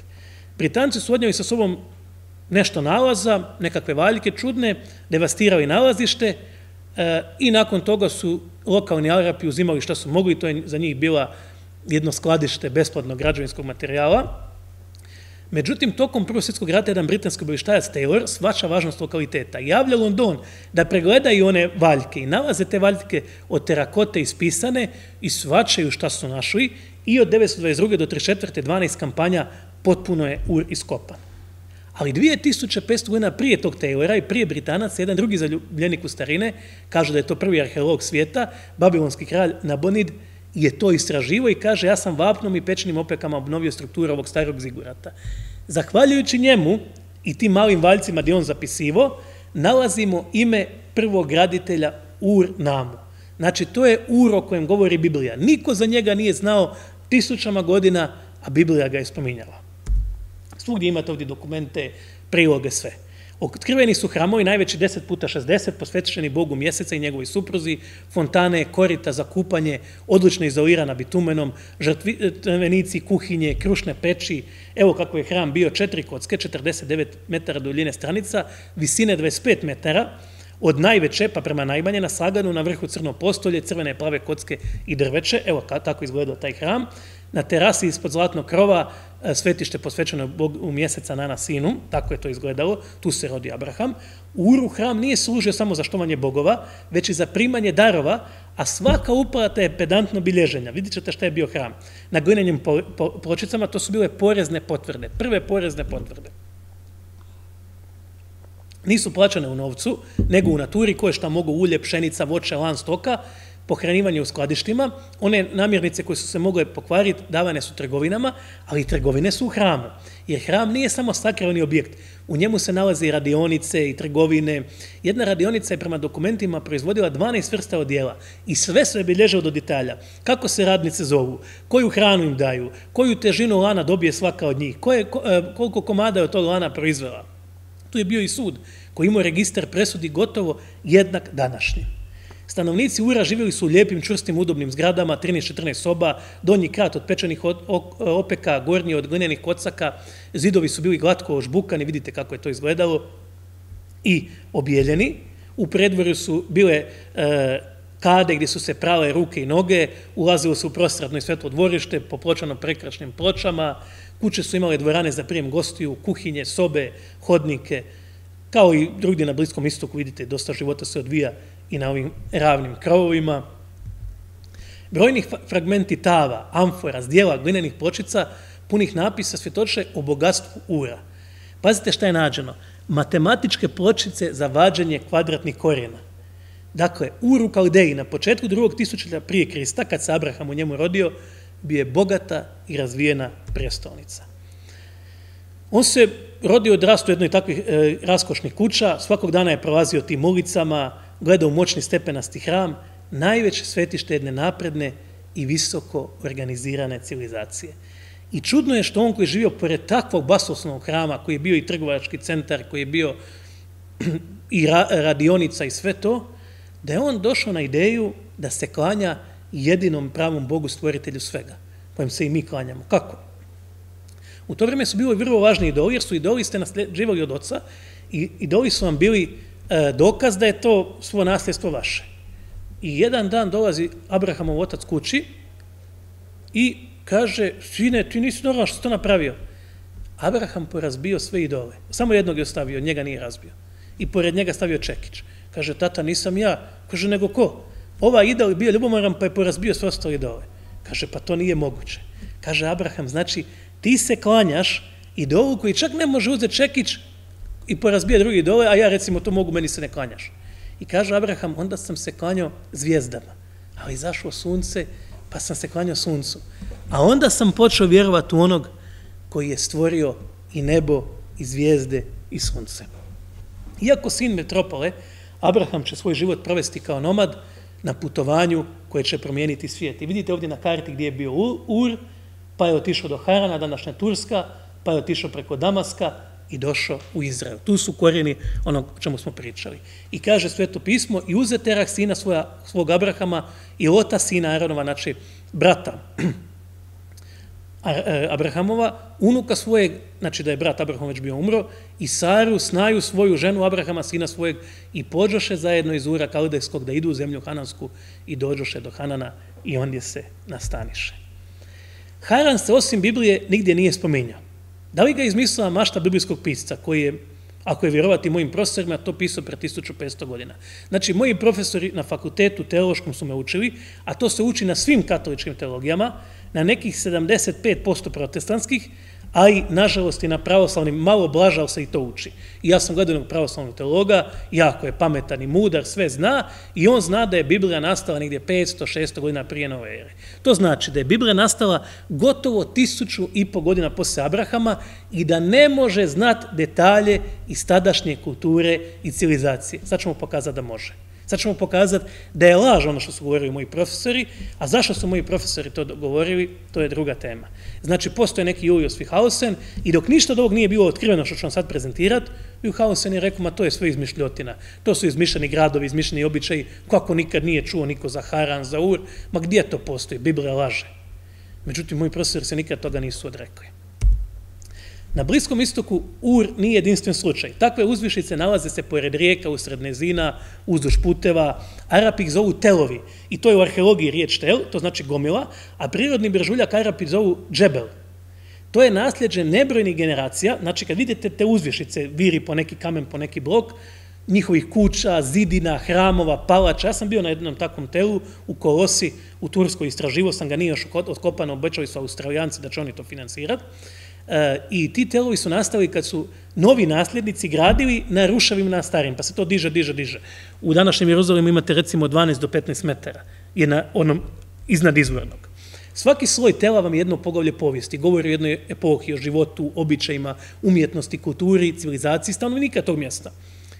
Britanci su odnijeli sa sobom nešto nalaza, nekakve valjke čudne, devastirali nalazište i nakon toga su lokalni Arapi uzimali što su mogli, to je za njih bila jedno skladište besplatnog građevinskog materijala. Međutim, tokom Prvog svjetskog rata jedan britanski obavještajac Taylor shvaća važnost lokaliteta i javlja London da pregledaju one valjke i nalaze te valjke od terakote ispisane i shvaćaju šta su našli i od 1922. do 1934. 12 kampanja potpuno je Ur iskopan. Ali 2500 godina prije tog Taylora i prije Britanaca, jedan drugi zaljubljenik u starine, kaže da je to prvi arheolog svijeta, babilonski kralj Nabonid, je to istraživo i kaže ja sam vapnom i pečnim opekama obnovio strukturu ovog starog zigurata. Zahvaljujući njemu i tim malim valjcima gdje on zapisivo, nalazimo ime prvog graditelja Ur-Namu. Znači, to je Ur o kojem govori Biblija. Niko za njega nije znao tisućama godina, a Biblija ga je spominjala. Svugdje imate ovdje dokumente, priloge, sve. Otkriveni su hramovi, najveći 10x60, posvećeni Bogu Mjeseca i njegovoj supruzi, fontane, korita za kupanje, odlično izolirana bitumenom, žrtvenici, kuhinje, krušne peći. Evo kako je hram bio, 4 kocke, 49 metara duljine stranica, visine 25 metara, od najveće pa prema najmanje na slaganu, na vrhu crno postolje, crvene plave kocke i drveće. Evo tako izgledao taj hram. Na terasi ispod zlatnog krova svetište posvećeno Bogu Mjeseca Nana sinu, tako je to izgledalo, tu se rodi Abraham. U Uru hram nije služio samo za štovanje bogova, već i za primanje darova, a svaka uplata je pedantno bilježenja. Vidjet ćete šta je bio hram. Na glinenim pločicama to su bile porezne potvrde, prve porezne potvrde. Nisu plaćane u novcu, nego u naturi, koje šta mogu ulje, pšenica, voće, lan stoka, pohranjivanje u skladištima. One namirnice koje su se mogle pokvariti davane su trgovinama, ali trgovine su u hramu. Jer hram nije samo sakralni objekt. U njemu se nalaze i radionice i trgovine. Jedna radionica je prema dokumentima proizvodila 12 vrsta odjela i sve se bilježilo do detalja. Kako se radnice zovu, koju hranu im daju, koju težinu lana dobije svaka od njih, koliko komada je od tog lana proizvela. Tu je bio i sud koji imao registar presudi gotovo jednak današnji. Stanovnici Ura živjeli su u lijepim, čvrstim, udobnim zgradama, 13-14 soba, donji kat od pečenih opeka, gornji od glinenih kocaka, zidovi su bili glatko ožbukani, vidite kako je to izgledalo, i objeljeni. U predvorju su bile kade gdje su se prale ruke i noge, ulazilo se u prostradno i svetlo dvorište, popločano prekrasnim pločama, kuće su imale dvorane za prijem gostiju, kuhinje, sobe, hodnike, kao i drugdje na Bliskom istoku, vidite, dosta života se odvija i na ovim ravnim krovovima. Brojnih fragmenti tava, amfora, zdjela, glinenih pločica, punih napisa svjedoče o bogatstvu Ura. Pazite šta je nađeno. Matematičke pločice za vađenje kvadratnih korijena. Dakle, Ur u Kaldeji na početku 2. tisućljeća prije Krista, kad se Abraham u njemu rodio, bio je bogata i razvijena prestolnica. On se rodio odrastao u jednoj takvih raskošnih kuća, svakog dana je prolazio tim ulicama, gledao u moćni stepenasti hram, najveće svetište jedne napredne i visoko organizirane civilizacije. I čudno je što on koji je živio pored takvog basoslovnog hrama, koji je bio i trgovački centar, koji je bio i radionica i sve to, da je on došao na ideju da se klanja jedinom pravom Bogu, stvoritelju svega, kojem se i mi klanjamo. Kako? U to vrijeme su bili vrlo važni idoli, jer su idoli ste nasleđivali od oca i idoli su vam bili dokaz da je to svo nasljedstvo vaše. I jedan dan dolazi Abrahamov otac kući i kaže, sine, ti nisi normalan što si to napravio. Abraham porazbio sve idole. Samo jednog je ostavio, njega nije razbio. I pored njega stavio čekić. Kaže, tata, nisam ja. Kaže, nego ko? Ova idol je bio ljubomoran pa je porazbio sve ostale idole. Kaže, pa to nije moguće. Kaže Abraham, znači, ti se klanjaš idolu koji čak ne može uzeti čekić i porazbije drugi idole, a ja recimo to mogu, meni se ne klanjaš. I kaže Abraham, onda sam se klanjao zvijezdama, ali izašlo sunce, pa sam se klanjao suncu. A onda sam počeo vjerovati u onog koji je stvorio i nebo, i zvijezde, i sunce. Iako sin metropole, Abraham će svoj život provesti kao nomad na putovanju koje će promijeniti svijet. I vidite ovdje na karti gdje je bio Ur, pa je otišao do Harana, današnja Turska, pa je otišao preko Damaska i došao u Izrael. Tu su korijeni onog o čemu smo pričali. I kaže Sveto pismo, i uze Terah sina svog Abrahama i Lota sina Aronova, znači brata Abrahamova, unuka svojeg, znači da je brat Abraham već bio umro, i Saru, Snaju, svoju ženu Abrahama, sina svojeg, i pođoše zajedno iz Ura Kaldejskog da idu u zemlju Hanansku i dođoše do Hanana i ondje se nastaniše. Haran se osim Biblije nigdje nije spominjao. Da li ga izmislila mašta biblijskog pisca koji je, ako je vjerovati mojim profesorima, to pisao pre 1500 godina. Znači, moji profesori na fakultetu teološkom su me učili, a to se uči na svim katoličkim teologijama, na nekih 75% protestantskih, a i, nažalost, i na pravoslavnim, malo blaže, ali se i to uči. I ja sam gledao jednog pravoslavnog teologa, jako je pametan i mudar, sve zna, i on zna da je Biblija nastala negdje 500-600 godina prije nove ere. To znači da je Biblija nastala gotovo 1500 godina poslije Abrahama i da ne može znati detalje iz tadašnje kulture i civilizacije. Sad ćemo pokazati da može. Sad ćemo pokazati da je laž ono što su govorili moji profesori, a zašto su moji profesori to govorili, to je druga tema. Znači, postoje neki Julius Wickhausen i dok ništa od ovog nije bilo otkriveno što ću vam sad prezentirati, Wickhausen je rekao, ma to je sve izmišljotina, to su izmišljeni gradovi, izmišljeni običaji, kako nikad nije čuo niko za Haran, za Ur, ma gdje to postoji, Biblija laže. Međutim, moji profesori se nikad toga nisu odrekli. Na Bliskom istoku Ur nije jedinstven slučaj. Takve uzvišice nalaze se pored rijeka, usred nizina, uzduž puteva. Arapi ih zovu telovi. I to je u arheologiji riječ tel, to znači gomila, a prirodni brežuljak Arapi zovu džebel. To je nasljeđe nebrojnih generacija. Znači, kad vidite te uzvišice, viri po neki kamen, po neki blok, njihovih kuća, zidina, hramova, palača. Ja sam bio na jednom takvom telu u Kolosi, u Turskoj, istraživo sam ga, nije još otkopano, obećali su Australijanci da će oni to financirati. I ti telovi su nastali kad su novi nasljednici gradili na ruševima na starim, pa se to diže. U današnjem Jeruzalemu imate recimo 12 do 15 metara, je na onom iznad izvornog. Svaki sloj tela vam je jedno poglavlje povijesti, govori o jednoj epohi, o životu, običajima, umjetnosti, kulturi, civilizaciji, stanovnika tog mjesta.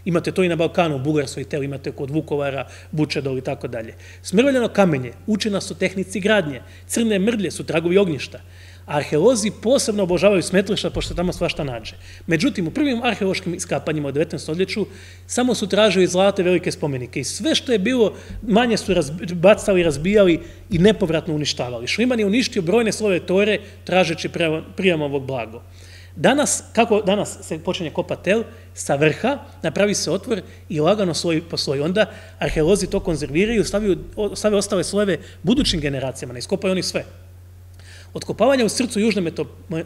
Imate to i na Balkanu, u Bugarskoj teli, imate kod Vukovara, Vučedol i tako dalje. Smrveljeno kamenje, uče nas o tehnici gradnje, crne mrdlje su tragovi ognjišta. Arheolozi posebno obožavaju smetlišta, pošto tamo svašta nađe. Međutim, u prvim arheološkim iskapanjima u 19. stoljeću samo su tražili zlate velike spomenike i sve što je bilo manje su bacali, razbijali i nepovratno uništavali. Šliman je uništio brojne slojeve tore tražeći prijam ovog blago. Kako danas se počinje kopati tel, sa vrha napravi se otvor i lagano sloj po sloj. Onda arheolozi to konzerviraju i stave ostale slojeve budućim generacijama, ne iskopaju oni sve. Otkopavanje u srcu južne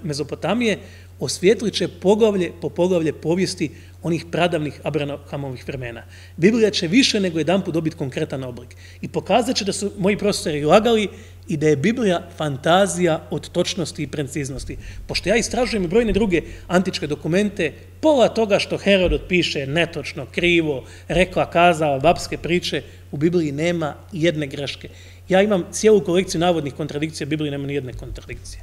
Mezopotamije osvijetlit će poglavlje po poglavlje povijesti onih pradavnih Abrahamovih vremena. Biblija će više nego jedanput dobiti konkretan oblik i pokazat će da su moji profesori lagali i da je Biblija fantazija od točnosti i preciznosti. Pošto ja istražujem i brojne druge antičke dokumente, pola toga što Herodot piše netočno, krivo, rekla, kazala, babske priče, u Bibliji nema jedne greške. Ja imam cijelu kolekciju navodnih kontradikcija, u Bibliji nema ni jedne kontradikcije.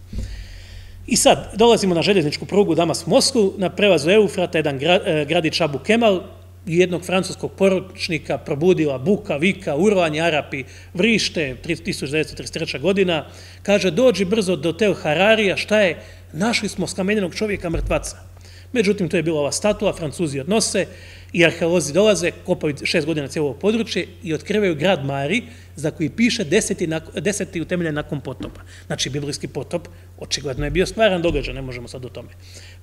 I sad, dolazimo na željezničku prugu Damas-Moskvu, na prelazu Eufrata, jedan gradić Abu Kemal, jednog francuskog poručnika probudila buka, vika, urlanje, Arapi vrište, 1933. godina, kaže, dođi brzo do Tel Hararija, šta je? Našli smo skamenjenog čovjeka, mrtvaca. Međutim, to je bila ova statua, Francuzi odnose i arheolozi dolaze, kopaju 6 godina cijelo ovo područje i otkrivaju grad Mari, za koji piše 10. utemeljen nakon potopa. Znači, biblijski potop očigledno je bio stvaran događaj, ne možemo sad o tome.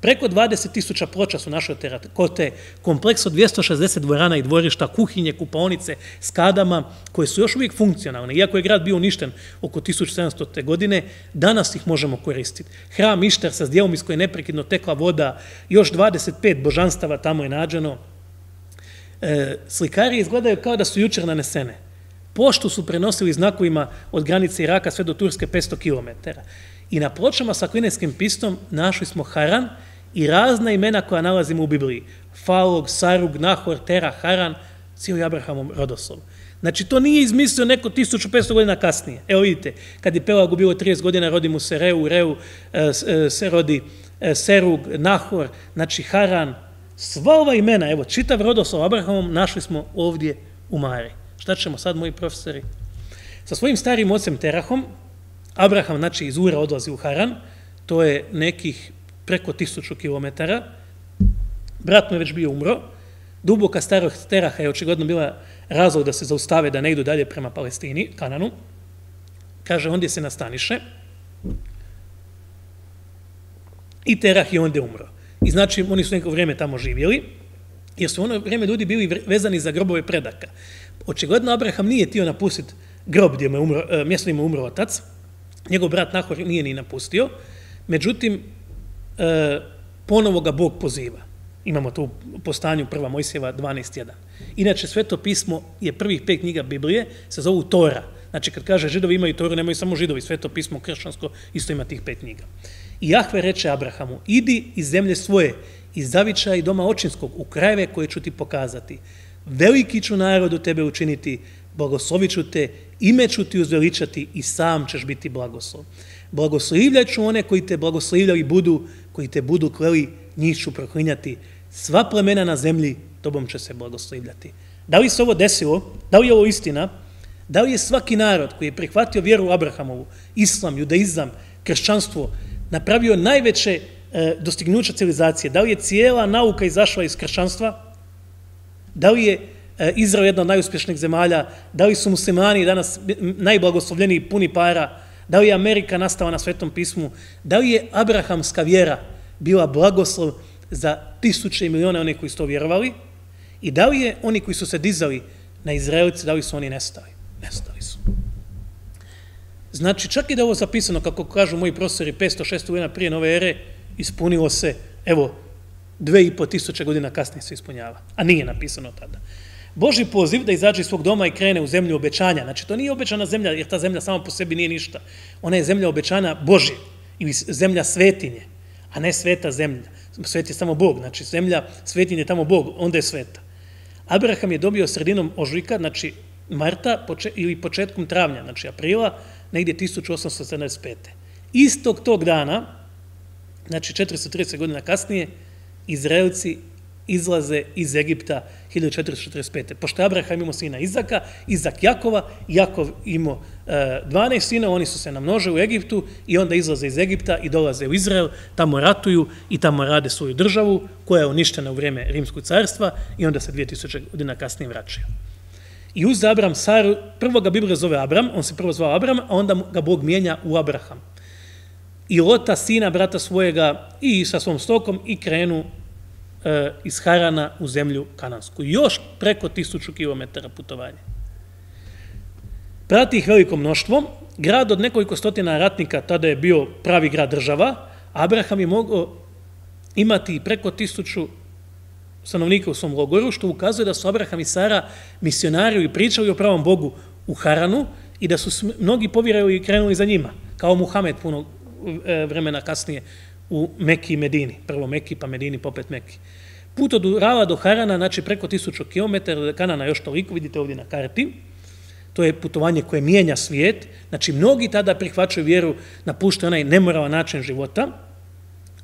Preko 20.000 ploča su našle terakote, kompleks od 260 dvorana i dvorišta, kuhinje, kupaonice, skadama, koje su još uvijek funkcionalne. Iako je grad bio uništen oko 1700. godine, danas ih možemo koristiti. Hram Ištar sa zdjelom iz koje je neprekidno tekla voda, još 25 božanstava tamo je nađeno. Slikari izgledaju kao da su jučer nanesene. Poštu su prenosili znakovima od granice Iraka sve do Turske 500 km. I na pločama sa klinetskim pistom našli smo Haran i razna imena koja nalazimo u Bibliji. Falog, Sarug, Nahor, Tera, Haran, cijeli Abrahamov rodoslov. Znači, to nije izmislio neko 1500 godina kasnije. Evo vidite, kad je Pelagu bilo 30 godina, rodi mu se Reu se rodi Serug, Nahor, znači Haran. Sva ova imena, evo, čitav rodoslov Abrahamom našli smo ovdje u Mari. Šta ćemo sad, moji profesori? Sa svojim starim ocem Terahom, Abraham, znači, iz Ura odlazi u Haran, to je nekih preko 1000 km, brat mu je već bio umro, duboka starost Teraha je očigledno bila razlog da se zaustave, da ne idu dalje prema Palestini, Kananu, kaže, ondje se nastaniše i Terah je ondje umro. I znači, oni su neko vrijeme tamo živjeli, jer su ono vrijeme ljudi bili vezani za grobove predaka. Očigledno, Abraham nije htio napustiti grob gdje mjesto gdje mu umro otac, njegov brat Nahor nije ni napustio, međutim, ponovo ga Bog poziva. Imamo to po stanju 1. Mojsijeva 12.1. Inače, Sveto pismo je prvih 5 knjiga Biblije, se zovu Tora. Znači, kad kaže Židovi imaju Toru, nemaju samo Židovi, Sveto pismo kršćansko isto ima tih 5 knjiga. I Jahve reče Abrahamu, idi iz zemlje svoje, iz zavičaja i doma očinskog, u krajeve koje ću ti pokazati. Veliki ću narod u tebe učiniti, blagoslovit ću te, ime ću ti uzveličati i sam ćeš biti blagoslov. Blagoslivljat ću one koji te blagoslivljali budu, koji te budu kleli, njih ću proklinjati. Sva plemena na zemlji tobom će se blagoslivljati. Da li se ovo desilo? Da li je ovo istina? Da li je svaki narod koji je prihvatio vjeru Abrahamovu, islam, judaizam, kršćanstvo, napravio najveće dostignuća civilizacije? Da li je cijela nauka izašla iz kršćanstva? Da li je Izrael jedna od najuspješnijih zemalja? Da li su muslimani danas najblagoslovljeniji, puni para? Da li je Amerika nastala na Svetom pismu? Da li je abrahamska vjera bila blagoslov za tisuće i milijone onih koji su to vjerovali? I da li je oni koji su se dizali na Izraelice, da li su oni nestali? Nestali su. Znači, čak i da je ovo zapisano, kako kažu moji profesori, 500-600 godina prije nove ere, ispunilo se, evo, 2500 godina kasnije se ispunjava, a nije napisano tada. Božji poziv da izađe iz svog doma i krene u zemlju obećanja. Znači, to nije obećana zemlja, jer ta zemlja sama po sebi nije ništa. Ona je zemlja obećana Božje, ili zemlja svetinje, a ne sveta zemlja. Svet je samo Bog, znači zemlja svetinje je tamo Bog, onda je sveta. Abraham je dobio sredinom ožujka, znači marta ili početkom travnja, znači aprila, negdje 1875. Istog tog dana, znači 430 godina kasnije, Izraelci izlaze iz Egipta 1445. Pošto Abraham imao sina Izaka, Izak Jakova, Jakov imao 12 sina, oni su se namnožili u Egiptu i onda izlaze iz Egipta i dolaze u Izrael, tamo ratuju i tamo rade svoju državu koja je uništena u vrijeme Rimskog carstva i onda se 2000 godina kasnije vraćaju. I uz Abram Saru, prvo ga Biblija zove Abram, on se prvo zvao Abram, a onda ga Bog mijenja u Abraham. I Lota, sina, brata svojega, i sa svom stokom i krenu iz Harana u zemlju Kanansku. Još preko 1000 km putovanja. Prati ih veliko mnoštvo grad od nekoliko stotina ratnika, tada je bio pravi grad država, Abraham je mogao imati preko 1000 stanovnika u svom logoru, što ukazuje da su Abraham i Sara misionari i pričali o pravom Bogu u Haranu i da su mnogi povjerovali i krenuli za njima, kao Muhamed puno vremena kasnije u Meki i Medini. Prvo Meki, pa Medini, popet Meki. Put od Urala do Harana, znači preko 1000 km, od Kanana još toliko, vidite ovdje na karti. To je putovanje koje mijenja svijet. Znači, mnogi tada prihvaćaju vjeru, napuštaju onaj nemoralan način života,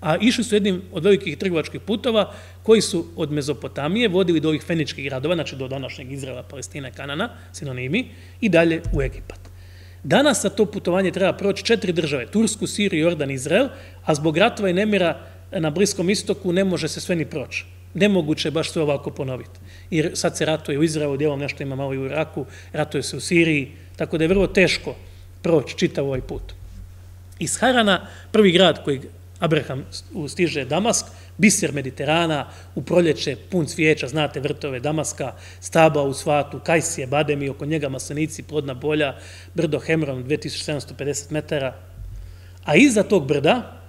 a išli su jednim od velikih trgovačkih putova koji su od Mezopotamije vodili do ovih feničkih gradova, znači do današnjeg Izraela, Palestine, Kanana, sinonimi, i dalje u Egipat. Danas za to putovanje treba proći 4 države, Tursku, Siriju, Jordan, Izrael, a zbog ratova i nemira na Bliskom istoku ne može se sve ni proći. Nemoguće je baš sve ovako ponoviti. Jer sad se ratuje u Izraelu, dijelom nešto ima malo i u Iraku, ratuje se u Siriji, tako da je vrlo teško proći čitav ovaj put. Iz Harana, prvi grad koji Abraham stiže Damask, biser Mediterana, u proljeće pun cvijeća, znate vrtove Damaska, stabla u svatu, kajsije, bademi, oko njega maslenici, plodna polja, brdo Hemron, 2750 metara. A iza tog brda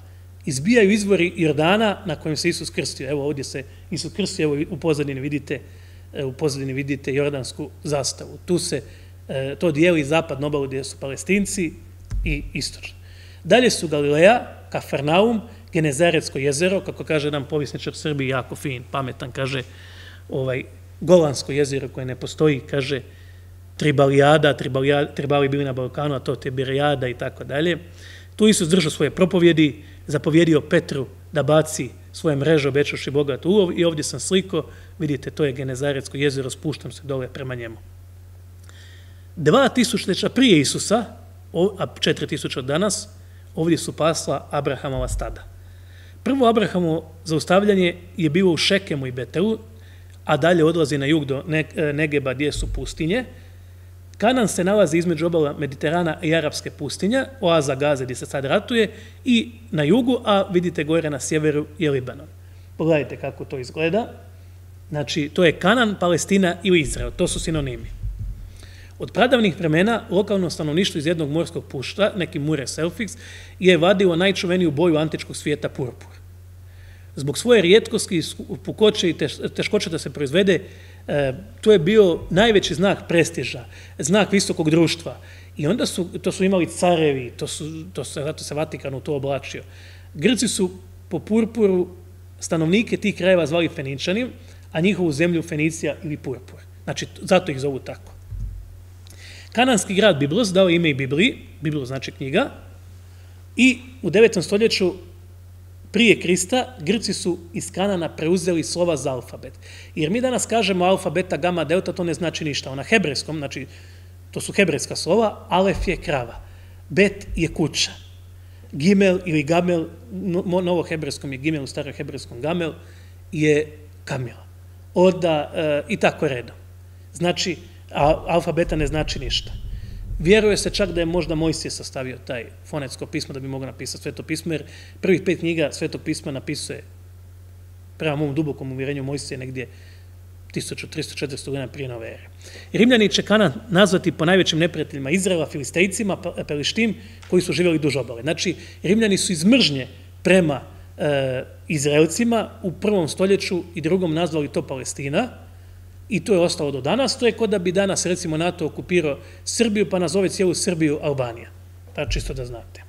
izbijaju izvori Jordana na kojem se Isus krstio. Evo ovdje se Isus krstio, evo u pozadini vidite jordansku zastavu. Tu se to dijeli zapadnu obalu gdje su Palestinci i istočno. Dalje su Galileja, Kafarnaum, Genezaretsko jezero, kako kaže nam povjesničar Srbiji, jako fin, pametan, kaže Golansko jezero koje ne postoji, kaže Tribalijada, Tribali bili na Balkanu, a to Tiberijada i tako dalje. Tu Isus držao svoje propovjedi, zapovjedio Petru da baci svoje mreže, obećavši bogat ulov, i ovdje sam sliko, vidite, to je Genezaretsko jezero, spuštam se dole prema njemu. 2000 prije Isusa, a 4000 od danas, ovdje su pasla Abrahamova stada. Prvo Abrahamovo zaustavljanje je bilo u Šekemu i Betelu, a dalje odlazi na jug do Negeba gdje su pustinje. Kanan se nalazi između obala Mediterana i Arapske pustinje, oaza Gaze gdje se sad ratuje, i na jugu, a vidite gore na sjeveru je Libanon. Pogledajte kako to izgleda. Znači, to je Kanan, Palestina ili Izrael. To su sinonimi. Od pradavnih vremena lokalno stanovništvo iz jednog morskog pušta, neki Mure Selfix, je vadilo najčuveniju boju antičkog svijeta purpur. Zbog svoje rijetkosti, pukoće i teškoće da se proizvede, to je bio najveći znak prestiža, znak visokog društva. I onda to su imali carevi, zato se Vatikan u to oblačio. Grci su po purpuru stanovnike tih krajeva zvali Feničani, a njihovu zemlju Fenicija ili Purpur. Znači, zato ih zovu tako. Kananski grad Biblos dao ime i Bibliji, Biblos znači knjiga, i u 9. stoljeću prije Krista Grci su iz Kanana preuzeli slova za alfabet. Jer mi danas kažemo alfa, beta, gama, delta, to ne znači ništa. Na hebrejskom, znači to su hebrejska slova, alef je krava, bet je kuća, gimel ili gamel, novo hebrejskom je gimel, u staroj hebrejskom gamel je kamila. Onda i tako redom. Znači, alfabeta ne znači ništa. Vjeruje se čak da je možda Mojsije sastavio taj fonetsko pismo da bi mogao napisati Sveto pismo, jer prvih 5 knjiga Sveto pisma napisuje, prema mom dubokom uvjerenju, Mojsije negdje 1300-400 godina prije nove ere. Rimljani će Kanan nazvati po najvećim neprijateljima Izraela, Filistejcima, Pelištim, koji su živjeli duž obale. Znači, Rimljani su iz mržnje prema Izraelcima u 1. stoljeću i 2. nazvali to Palestina, i to je ostalo do danas. To je kod da bi danas, recimo, NATO okupirao Srbiju, pa nazove cijelu Srbiju Albanija. Pa čisto da znate.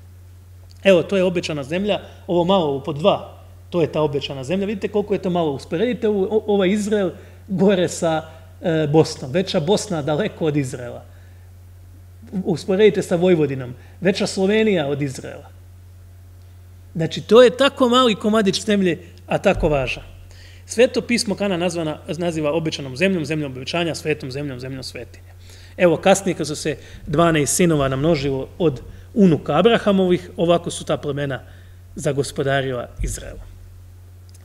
Evo, to je obećana zemlja, ovo malo, ovo po 2, to je ta obećana zemlja. Vidite koliko je to malo. Usporedite ovaj Izrael gore sa Bosnom. Veća Bosna daleko od Izraela. Usporedite sa Vojvodinom. Veća Slovenija od Izraela. Znači, to je tako mali komadić zemlje, a tako važan. Sveto pismo Kana naziva obećanom zemljom, zemljom obećanja, svetom zemljom, zemljom svetinje. Evo, kasnije kad su se 12 sinova namnožilo od unuka Abrahamovih, ovako su ta plemena zagospodarila Izraelu.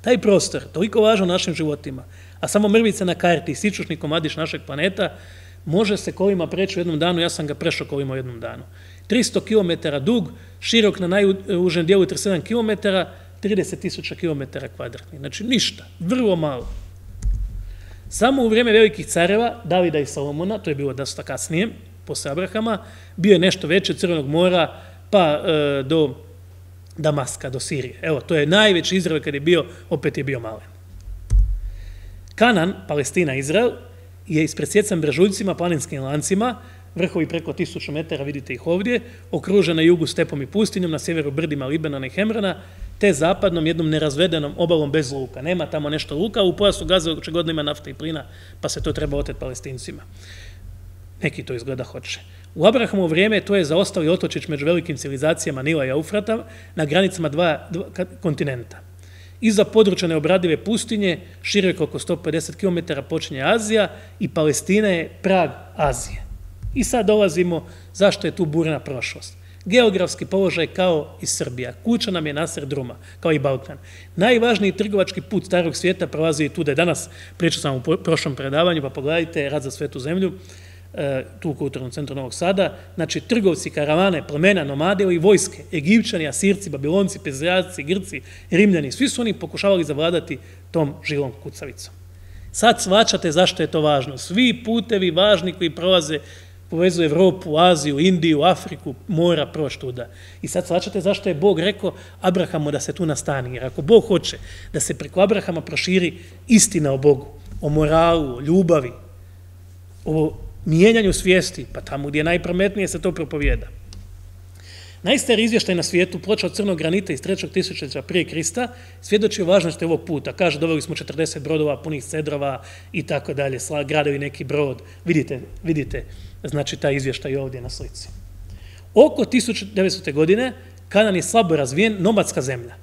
Taj prostor, toliko važan u našim životima, a samo mrvice na karti i sičušni komadić našeg planeta, može se kolima preći u jednom danu, ja sam ga prešao kolima u jednom danu. 300 km dug, širok na najužem dijelu 37 km, 30.000 km kvadratnih. Znači ništa, vrlo malo. Samo u vrijeme velikih careva, Davida i Salomona, to je bilo dosta kasnije, posle Abrahama, bio je nešto veći od Crvenog mora pa do Damaska, do Sirije. Evo, to je najveći Izrael kad je bio, opet je bio malen. Kanan, Palestina, Izrael, je ispresjecan brežuljcima, planinskim lancima, vrhovi preko 1000 metara, vidite ih ovdje, okružen na jugu stepom i pustinjom, na sjeveru brdima Libanona i Hemrana, te zapadnom jednom nerazvedenom obalom bez luka. Nema tamo nešto luka, u pojasu Gaze očigledno ima nafta i plina, pa se to treba oteti Palestincima. Neki to izgleda hoće. U Abrahamovo vrijeme to je zaostali otočić među velikim civilizacijama Nila i Eufrata na granicama dva kontinenta. Iza područja neobradive pustinje, široko oko 150 km, počinje Azija i Palestina je prag Azije. I sad dolazimo zašto je tu burna prošlost. Geografski položaj kao i Srbija. Kuća nam je nasred druma, kao i Balkan. Najvažniji trgovački put starog svijeta prolazi i tu da je danas, pričao sam u prošlom predavanju, pa pogledajte Rad za svetu zemlju, tu u kulturnom centru Novog Sada, znači trgovci, karavane, plemena, nomade i vojske, Egipćani, Asirci, Babilonci, Pezrejaci, Grci, Rimljani, svi su oni pokušavali zavladati tom živom kucavicom. Sad shvaćate zašto je to važno. Svi putevi važni koji prolaze povezuju Evropu, Aziju, Indiju, Afriku, mora proći tuda. I sad shvaćate zašto je Bog rekao Abrahamu da se tu nastani. Jer ako Bog hoće da se preko Abrahama proširi istina o Bogu, o moralu, o ljubavi, o mijenjanju svijesti, pa tamo gdje je najprometnije se to propovijeda. Najstariji izvještaj na svijetu, ploča od crnog granita iz 3. tisućljeća prije Krista, svjedoči o važnosti ovog puta. Kaže, doveli smo 40 brodova punih cedrova i tako dalje, gradovi neki brod. Vidite, znači taj izvještaj ovdje na slici. Oko 1900. godine Kanan je slabo razvijen, nomadska zemlja.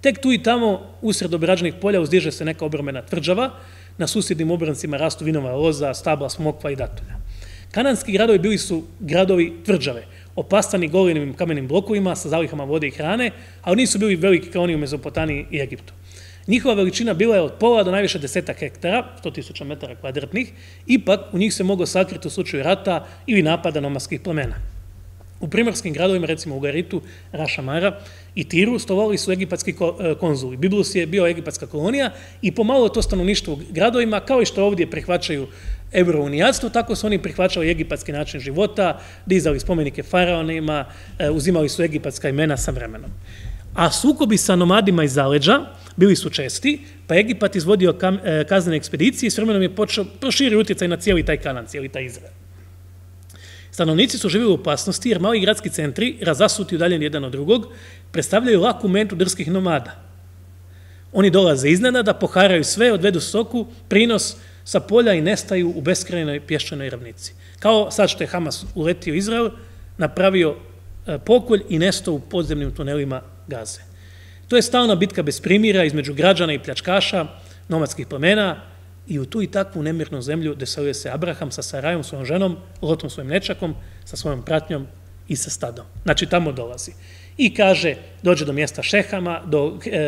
Tek tu i tamo, usred obrađenih polja, uzdiže se neka obrambena tvrđava, na susjednim obrancima rastu vinova loza, stabla, smokva i datulja. Kananski gradovi bili su gradovi tvrđave, opastani golenim kamenim blokovima sa zalihama vode i hrane, ali nisu bili veliki kao oni u Mezopotamiji i Egiptu. Njihova veličina bila je od pola do najviše 10 hektara, 100.000 metara kvadratnih, ipak u njih se moglo sakriti u slučaju rata ili napada nomadskih plemena. U primorskim gradovima, recimo u Garitu, Rašamara i Tiru, stolovali su egipatski konzuli. Biblos je bio egipatska kolonija i pomalo to stanovništvo u gradovima, kao i što ovdje prihvaćaju eurounijatstvo, tako su oni prihvaćali egipatski način života, dizali spomenike faraonima, uzimali su egipatska imena sa vremenom. A sukobi sa nomadima iz zaleđa bili su česti, pa Egipat izvodio kaznene ekspedicije i s vremenom je počeo proširiti utjecaj na cijeli taj Kanan, cijeli taj Izrael. Stanovnici su živjeli u opasnosti jer mali gradski centri, razasuti udaljeni jedan od drugog, predstavljaju laku mentu drskih nomada. Oni dolaze iznenada, poharaju sve, odvedu stoku, prinos sa polja i nestaju u beskrajnoj pješčanoj ravnici. Kao sad što je Hamas uletio Izrael, napravio pokolj i nestao u podzemnim tunelima Gaze. To je stalna bitka bez primjera između građana i pljačkaša, nomadskih plemena, i u tu i takvu nemirnu zemlju doselio se Abraham sa Sarajom, svojom ženom, Lotom, svojim nečakom, sa svojom pratnjom i sa stadom. Znači, tamo dolazi. I kaže, dođe do mjesta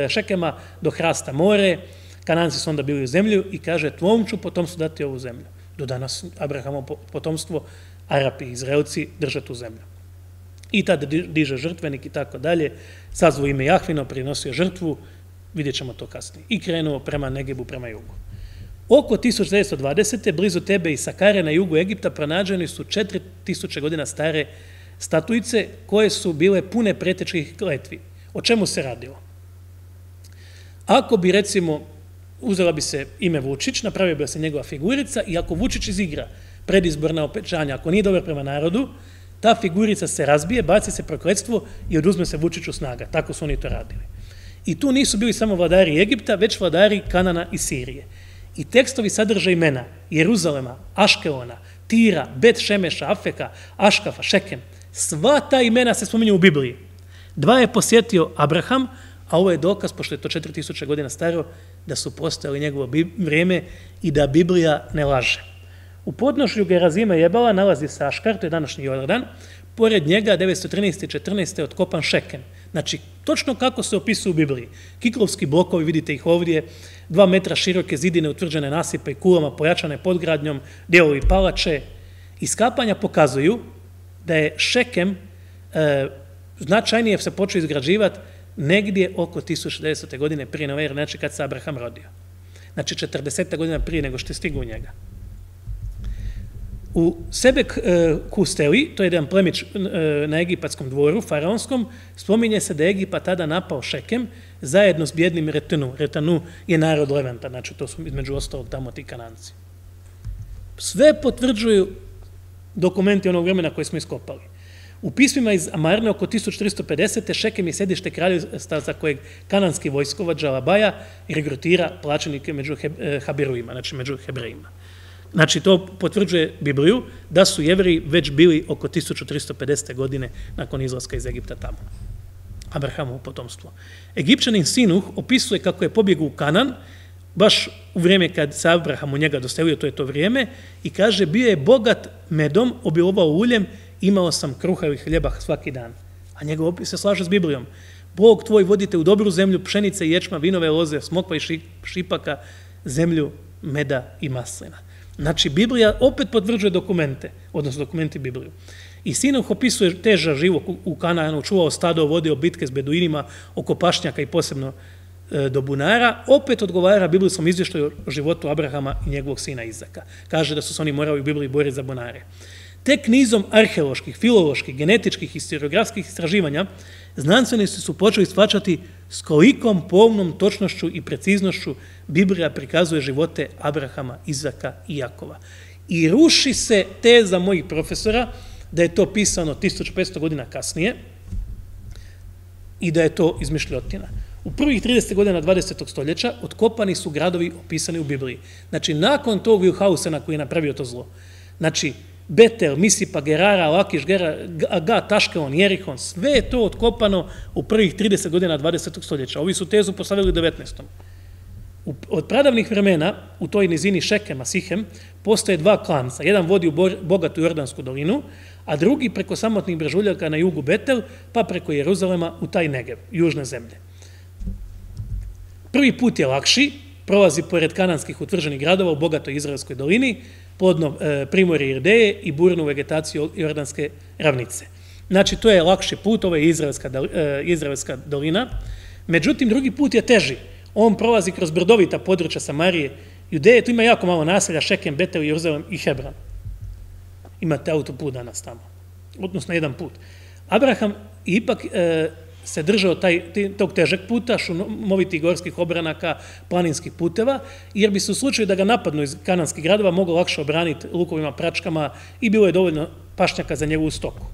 Šekema, do hrasta more, Kananci su onda bili u zemlju i kaže, tvom ću potomstvu dati ovu zemlju. Do danas Abrahamovo potomstvo, Arapi i Izraelci drže tu zemlju. I tada diže žrtvenik i tako dalje, sazvao ime Jahvino, prinosio žrtvu, vidjet ćemo to kasnije. I krenuo prema Negebu, prema jugu. Oko 1920. blizu Tebe i Sakare na jugu Egipta pronađeni su 4000 godina stare statuice koje su bile pune pretečkih kletvi. O čemu se radilo? Ako bi, recimo, uzela bi se ime Vučić, napravio bi se njegova figurica i ako Vučić izigra predizborna obećanja, ako nije dobar prema narodu, ta figurica se razbije, baci se prokletstvo i oduzme se Vučiću snaga. Tako su oni to radili. I tu nisu bili samo vladari Egipta, već vladari Kanana i Sirije. I tekstovi sadrže imena Jeruzalema, Aškelona, Tira, Bet Šemeša, Afeka, Aškafa, Šekem. Sva ta imena se spominju u Bibliji. 2 je posjetio Abraham, a ovo je dokaz, pošto je to 4000 godina staro, da su postojali njegovo vrijeme i da Biblija ne laže. U podnožju Gerazima i Jebala nalazi se Aškar, to je današnji Jordan, pored njega 913. i 14. otkopan Šekem. Znači, točno kako se opisuje u Bibliji. Kiklovski blokovi, vidite ih ovdje, 2 metra široke zidine utvrđene nasipe i kulama pojačane podgradnjom, dijelovi palače. Iskapanja pokazuju da je Šekem značajnije se počeo izgrađivati negdje oko 1900. godine prije nove ere, znači kad se Abraham rodio. Znači 40 godina prije nego što je stigao u njega. U Sebek Kusteli, to je jedan plemić na egipatskom dvoru, faraonskom, spominje se da je Egipat tada napao Šekem zajedno s bjednim Retanu. Retanu je narod Levanta, znači to su između ostalog tamo ti Kananci. Sve potvrđuju dokumenti onog vremena koje smo iskopali. U pismima iz Amarne oko 1450. Šekem je sedište kraljevstva za kojeg kananski vojskovođa Labaja regrutira plaćenike među Habiruima, znači među Hebrejima. Znači, to potvrđuje Bibliju da su Jevreji već bili oko 1350. godine nakon izlaska iz Egipta tamo. Abrahamovo potomstvo. Egipćanin Sinuh opisuje kako je pobjegao u Kanan, baš u vrijeme kad se Abraham u njega doselio, to je to vrijeme, i kaže, bio je bogat medom, obilovao uljem, imao sam kruha i hljeba svaki dan. A njegov opis se slaže s Biblijom. Bog tvoj vodite u dobru zemlju, pšenice i ječma, vinove loze, smokva i šipaka, zemlju meda i maslina. Znači, Biblija opet potvrđuje dokumente, odnosno dokumenti Bibliju. I Sinuh opisuje težak život u Kanaanu, čuvao stado, vodio bitke s beduinima oko pašnjaka i posebno do bunara, opet odgovara biblijskom izvještaju o životu Abrahama i njegovog sina Izaka. Kaže da su se oni morali u Bibliji boriti za bunare. Tek nizom arheoloških, filoloških, genetičkih i historiografskih istraživanja znanstvenici su počeli shvaćati s kolikom pomnom točnošću i preciznošću Biblija prikazuje živote Abrahama, Izaka i Jakova. I ruši se teza mojih profesora da je to pisano 1500 godina kasnije i da je to izmišljotina. U prvih 30 godina 20. stoljeća otkopani su gradovi opisani u Bibliji. Znači, nakon tog Vilhausena koji je napravio to zlo. Znači, Betel, Misipa, Gerara, Lakiš, Gat, Aškelon, Jerihon, sve je to otkopano u prvih 30 godina 20. stoljeća. Ovi su tezu postavili u 19. Od pradavnih vremena u toj nizini Šekema, Sihem, postoje dva klanca. Jedan vodi u bogatu Jordansku dolinu, a drugi preko samotnih brežuljaka na jugu Betel, pa preko Jeruzalema u taj Negev, južne zemlje. Prvi put je lakši, prolazi pored kananskih utvrđenih gradova u bogatoj Izraelskoj dolini, plodno primorje Irdeje i burnu vegetaciju Jordanske ravnice. Znači, to je lakši put, ovo je Izraelska dolina. Međutim, drugi put je teži. On prolazi kroz brdovita područja Samarije, Judeje, tu ima jako malo naselja, Šekem, Betel, Jeruzalem i Hebron. Imate autoput danas tamo, odnosno jedan put. Abraham ipak se držao tog težeg puta, šumovitih gorskih obranaka, planinskih puteva, jer bi se u slučaju da ga napadnu iz kananskih gradova moglo lakše obraniti lukovima, pračkama i bilo je dovoljno pašnjaka za njegovu stoku.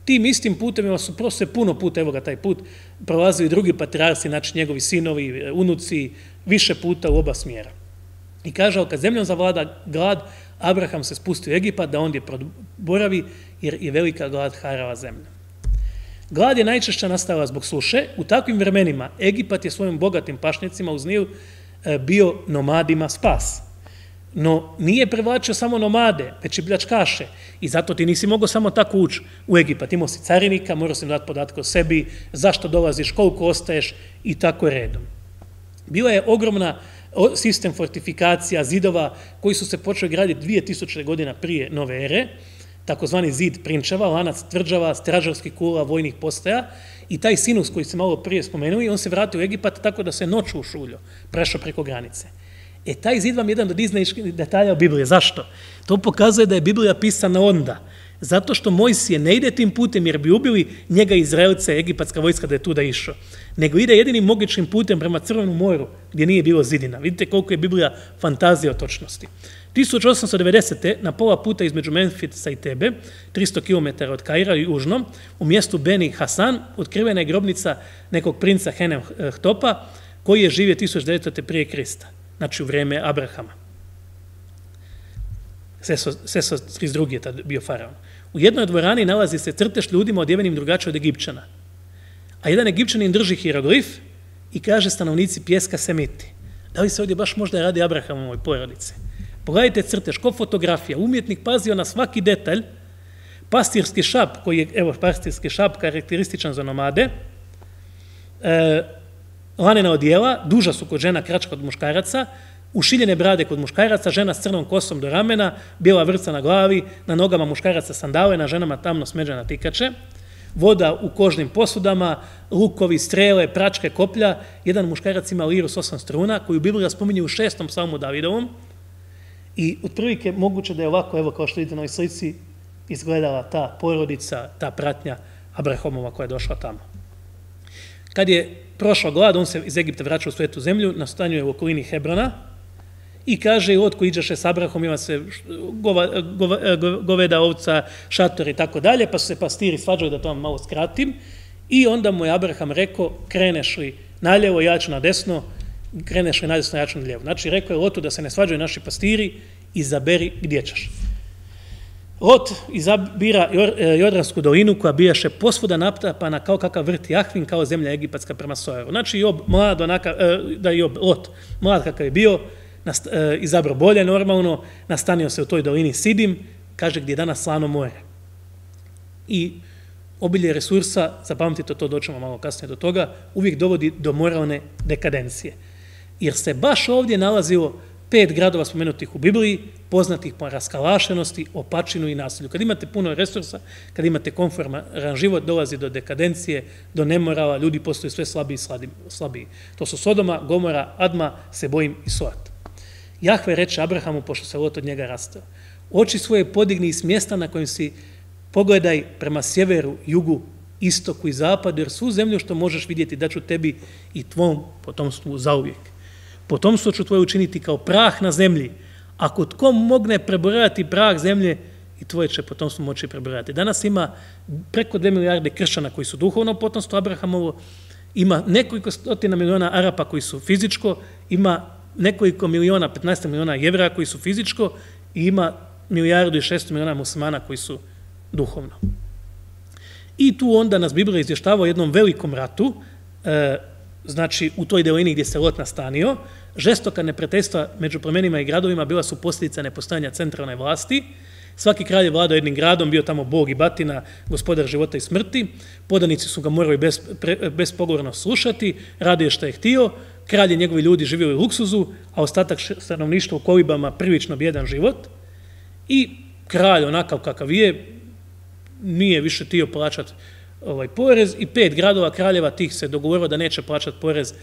Tim istim putevima su prosto puno puta, evo ga taj put, prolazili drugi patrijarsi, znači njegovi sinovi, unuci, više puta u oba smjera. I kaže, kad zemljom zavlada glad, Abraham se spustio u Egipat da ondje boravi, jer je velika glad harala zemlja. Glad je najčešće nastala zbog suše. U takvim vremenima Egipat je svojim bogatim pašnjacima uz Nil bio nomadima spas. No nije privlačio samo nomade, već i pljačkaše. I zato ti nisi mogao samo tako ući u Egipat. Imao si carinika, morao si im dati podatke o sebi, zašto dolaziš, koliko ostaješ i tako redom. Bila je ogromna sistem fortifikacija, zidova koji su se počeli graditi 2000 godina prije nove ere, takozvani zid prinčeva, lanac tvrđava, stražarskih kula, vojnih postaja, i taj Sinus koji se malo prije spomenuli, on se vratio u Egipat tako da se noću ušuljio, prešao preko granice. Taj zid vam je jedan od iznajskih detalja o Biblije. Zašto? To pokazuje da je Biblija pisana onda. Zato što Mojsije ne ide tim putem jer bi ubili njega Izraelce, egipatska vojska da je tu da išao. Nego ide jedinim mogućim putem prema Crvenom moru gdje nije bilo zidina. Vidite koliko je Biblija fantazija o točnosti. 1890. na pola puta između Memfisa i Tebe, 300 km od Kaira južno, u mjestu Beni Hasan, otkrivena je grobnica nekog princa Henem Htopa, koji je živio 1900. prije Krista, znači u vrijeme Abrahama. Seso 32. je tad bio faraon. U jednoj dvorani nalazi se crtež ljudima odjevenim drugačije od Egipćana. A jedan Egipćanin drži hieroglif i kaže stanovnici pjeska Semiti. Da li se ovdje baš možda radi Abrahamovoj porodice? Pogledajte crtež, ko fotografija, umjetnik pazio na svaki detalj, pastirski šap, koji je, evo, pastirski šap karakterističan za nomade, lanena odijela, duža su kod žena, kraća kod muškaraca, ušiljene brade kod muškaraca, žena s crnom kosom do ramena, bijela vrca na glavi, na nogama muškaraca sandale, na ženama tamno smeđana tikače, voda u kožnim posudama, lukovi, strele, pračke, koplja, jedan muškarac ima liru s 8 struna, koju Biblija spominje u 6. psalmu Davidovom, I otprilike moguće da je ovako, evo kao što vidite na ovoj slici, izgledala ta porodica, ta pratnja Abrahamova koja je došla tamo. Kad je prošao glad, on se iz Egipta vraća u svetu zemlju, nastanjuje u okolini Hebrona i kaže, otko iđaše s Abrahom, ima se goveda, ovca, šator i tako dalje, pa su se pastiri svađali, da to vam malo skratim, i onda mu je Abraham rekao, kreneš li naljevo, ja ću na desno, kreneš li na desno, ja ću na lijevo. Znači, rekao je Lotu da se ne svađaju naši pastiri, izaberi gdje ćeš. Lot izabira Jordansku dolinu koja bijaše posvuda naptapana kao kakav vrt Jahvin, kao zemlja egipatska prema Sojeru. Znači, Lot, mlad kakav je bio, izabrao bolje normalno, nastanio se u toj dolini Sidim, kaže gdje je danas Slano more. I obilje resursa, zapamtite to, doćemo malo kasnije do toga, uvijek dovodi do moralne dekadencije. Jer se baš ovdje nalazilo 5 gradova spomenutih u Bibliji, poznatih po raskalašenosti, opačinu i nasilju. Kad imate puno resursa, kad imate konforman život, dolazi do dekadencije, do nemorala, ljudi postaju sve slabiji i slabiji. To su Sodoma, Gomora, Adma, Sebojim i Soat. Jahve reče Abrahamu, pošto se Lot od njega rastao, oči svoje podigni s mjesta na kojem si pogledaj prema sjeveru, jugu, istoku i zapadu, jer svu zemlju što možeš vidjeti daću tebi i tvom potomstvu zauvijek. Potomstvo ću tvoje učiniti kao prah na zemlji. Ako tko mogne prebrojati prah zemlje, i tvoje će potomstvo moći prebrojati. Danas ima preko 2 milijarde kršćana koji su duhovno potomstvo Abrahamovo, ima nekoliko stotina miliona Arapa koji su fizičko, ima nekoliko miliona, 15 miliona Jevreja koji su fizičko i ima 1,6 miliona muslimana koji su duhovno. I tu onda nas Biblija izvještava o jednom velikom ratu, znači u toj delini gdje se Lot nastanio, žestoka neprijateljstva među plemenima i gradovima bila su posljedica nepostojanja centralne vlasti. Svaki kralj je vladao jednim gradom, bio tamo bog i batina, gospodar života i smrti, podanici su ga morali bespogovorno slušati, radio što je htio, kralj i njegovi ljudi živjeli u luksuzu, a ostatak stanovništva u kolibama prilično bijedan život. I kralj, onakav kakav je, nije više htio plaćati porez i 5 gradova kraljeva tih se dogovorilo da neće plaćati porez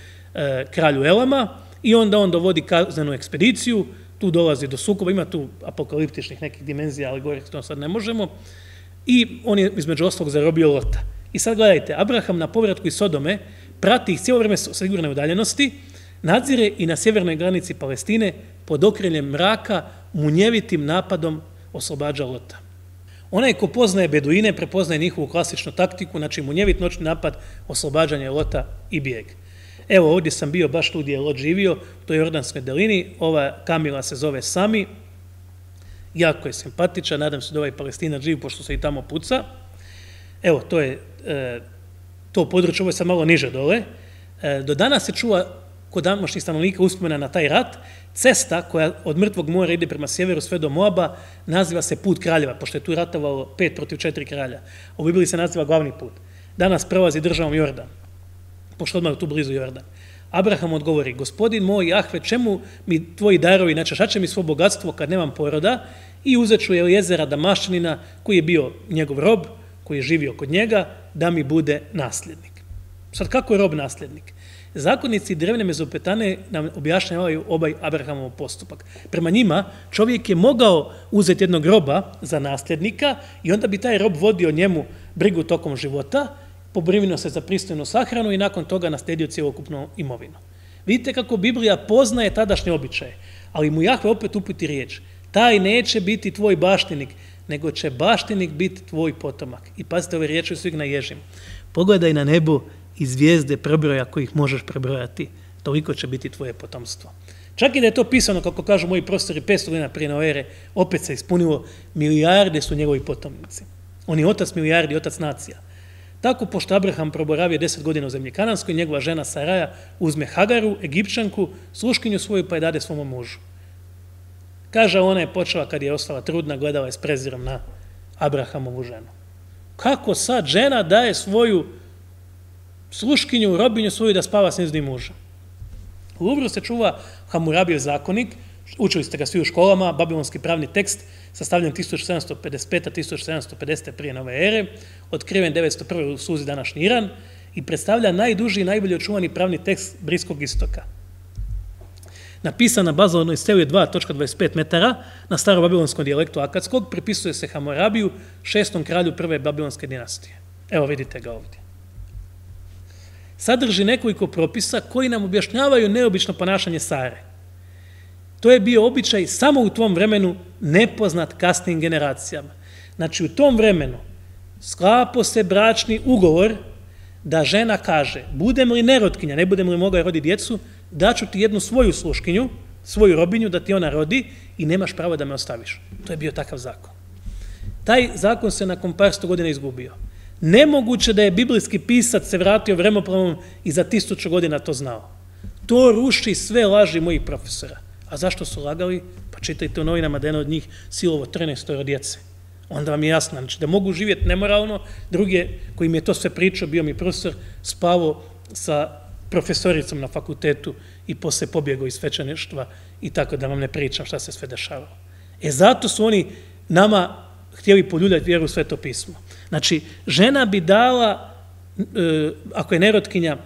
kralju Elama i onda on dovodi kaznenu ekspediciju, tu dolazi do sukoba, ima tu apokaliptičnih nekih dimenzija, ali gore to sad ne možemo, i on je između ostalog zarobio Lota. I sad gledajte, Abraham na povratku iz Sodome prati ih cijelo vrijeme sigurne udaljenosti, nadzire i na sjevernoj granici Palestine pod okriljem mraka munjevitim napadom oslobađa Lota. Onaj ko poznaje Beduine, prepoznaje njihovu klasičnu taktiku, znači munjevit noćni napad, oslobađanje Lota i bijeg. Evo ovdje sam bio baš tu gdje je Lot živio, u toj Jordanskoj dolini, ova Kamila se zove Sami, jako je simpatičan, nadam se da ovaj Palestinac živi, pošto se i tamo puca. Evo, to je to područje, ovo je sad malo niže dole. Do danas se čuva kod današnjih stanovnika uspomena na taj rat. Cesta koja od Mrtvog mora ide prema sjeveru sve do Moaba naziva se Put kraljeva, pošto je tu ratovalo 5 protiv 4 kralja. U Bibliji se naziva glavni put. Danas prelazi državom Jordan, pošto odmah tu blizu Jordan. Abraham odgovori, gospodin moj Jahve, čemu mi tvoji darovi, znači šta će mi svo bogatstvo kad nemam poroda, i uzet ću Elijezera Damaščanina, koji je bio njegov rob, koji je živio kod njega, da mi bude nasljednik. Sad kako je rob nasljednik? Zakonnici drevne Mezopotame nam objašnjavaju ovaj Abrahamov postupak. Prema njima čovjek je mogao uzeti jednog roba za nasljednika i onda bi taj rob vodio njemu brigu tokom života, pobrinuo se za pristojnu sahranu i nakon toga naslijedio cjelokupnu imovinu. Vidite kako Biblija poznaje tadašnje običaje, ali mu Jahve opet uputi riječ. Taj neće biti tvoj baštinik, nego će baštinik biti tvoj potomak. I pazite, ove riječi su ih na ježim. Pogledaj na nebo i zvijezde prebroj ako ih možeš prebrojati. Toliko će biti tvoje potomstvo. Čak i da je to pisano, kako kažu moji profesori, 500 godina prije nove ere, opet se ispunilo, milijarde su njegovi potomnici. On je otac milijardi, otac nacija. Tako, pošto Abraham proboravio 10 godina u zemlji Kananskoj, njegova žena Saraja uzme Hagaru, Egipćanku, sluškinju svoju, pa je dade svom mužu. Kaže, ona je počela, kad je ostala trudna, gledala je s prezirom na Abrahamovu ženu. Kako sad žena daje svoju sluškinju, robinju svoju da spava s njezinim mužem? U Luvru se čuva Hamurabijev zakonik, učili ste ga svi u školama, babilonski pravni tekst, sastavljen 1755-1750 prije nove ere, otkriven 901. u Suzi današnji Iran i predstavlja najduži i najbolje očuvani pravni tekst Bliskog istoka. napisana bazalnoj steli 2.25 metara na starobabilonskom dijalektu akadskog, pripisuje se Hamorabiju, 6. kralju prve babilonske dinastije. Evo vidite ga ovdje. Sadrži nekoliko propisa koji nam objašnjavaju neobično ponašanje Sare. To je bio običaj samo u tom vremenu nepoznat kasnim generacijama. Znači u tom vremenu sklapo se bračni ugovor da žena kaže, budem li nerotkinja, ne budem li mogla roditi djecu, daću ti jednu svoju sluškinju, svoju robinju da ti ona rodi i nemaš pravo da me ostaviš. To je bio takav zakon. Taj zakon se nakon par sto godina izgubio. Nemoguće da je biblijski pisac se vratio vremeplavom i za 1000 godina to znao. To ruši sve laži mojih profesora. A zašto su lagali? Pa čitajte u novinama da je od njih silovo 13 djece. Onda vam je jasno, znači da mogu živjeti nemoralno, drugi koji mi je to sve pričao, bio mi profesor, spavao sa profesoricom na fakultetu i posle pobjegao iz svećeništva i tako da vam ne pričam šta se sve dešavalo. Zato su oni nama htjeli poljuljati vjeru u Sveto pismo. Znači, žena bi dala, ako je nerotkinja,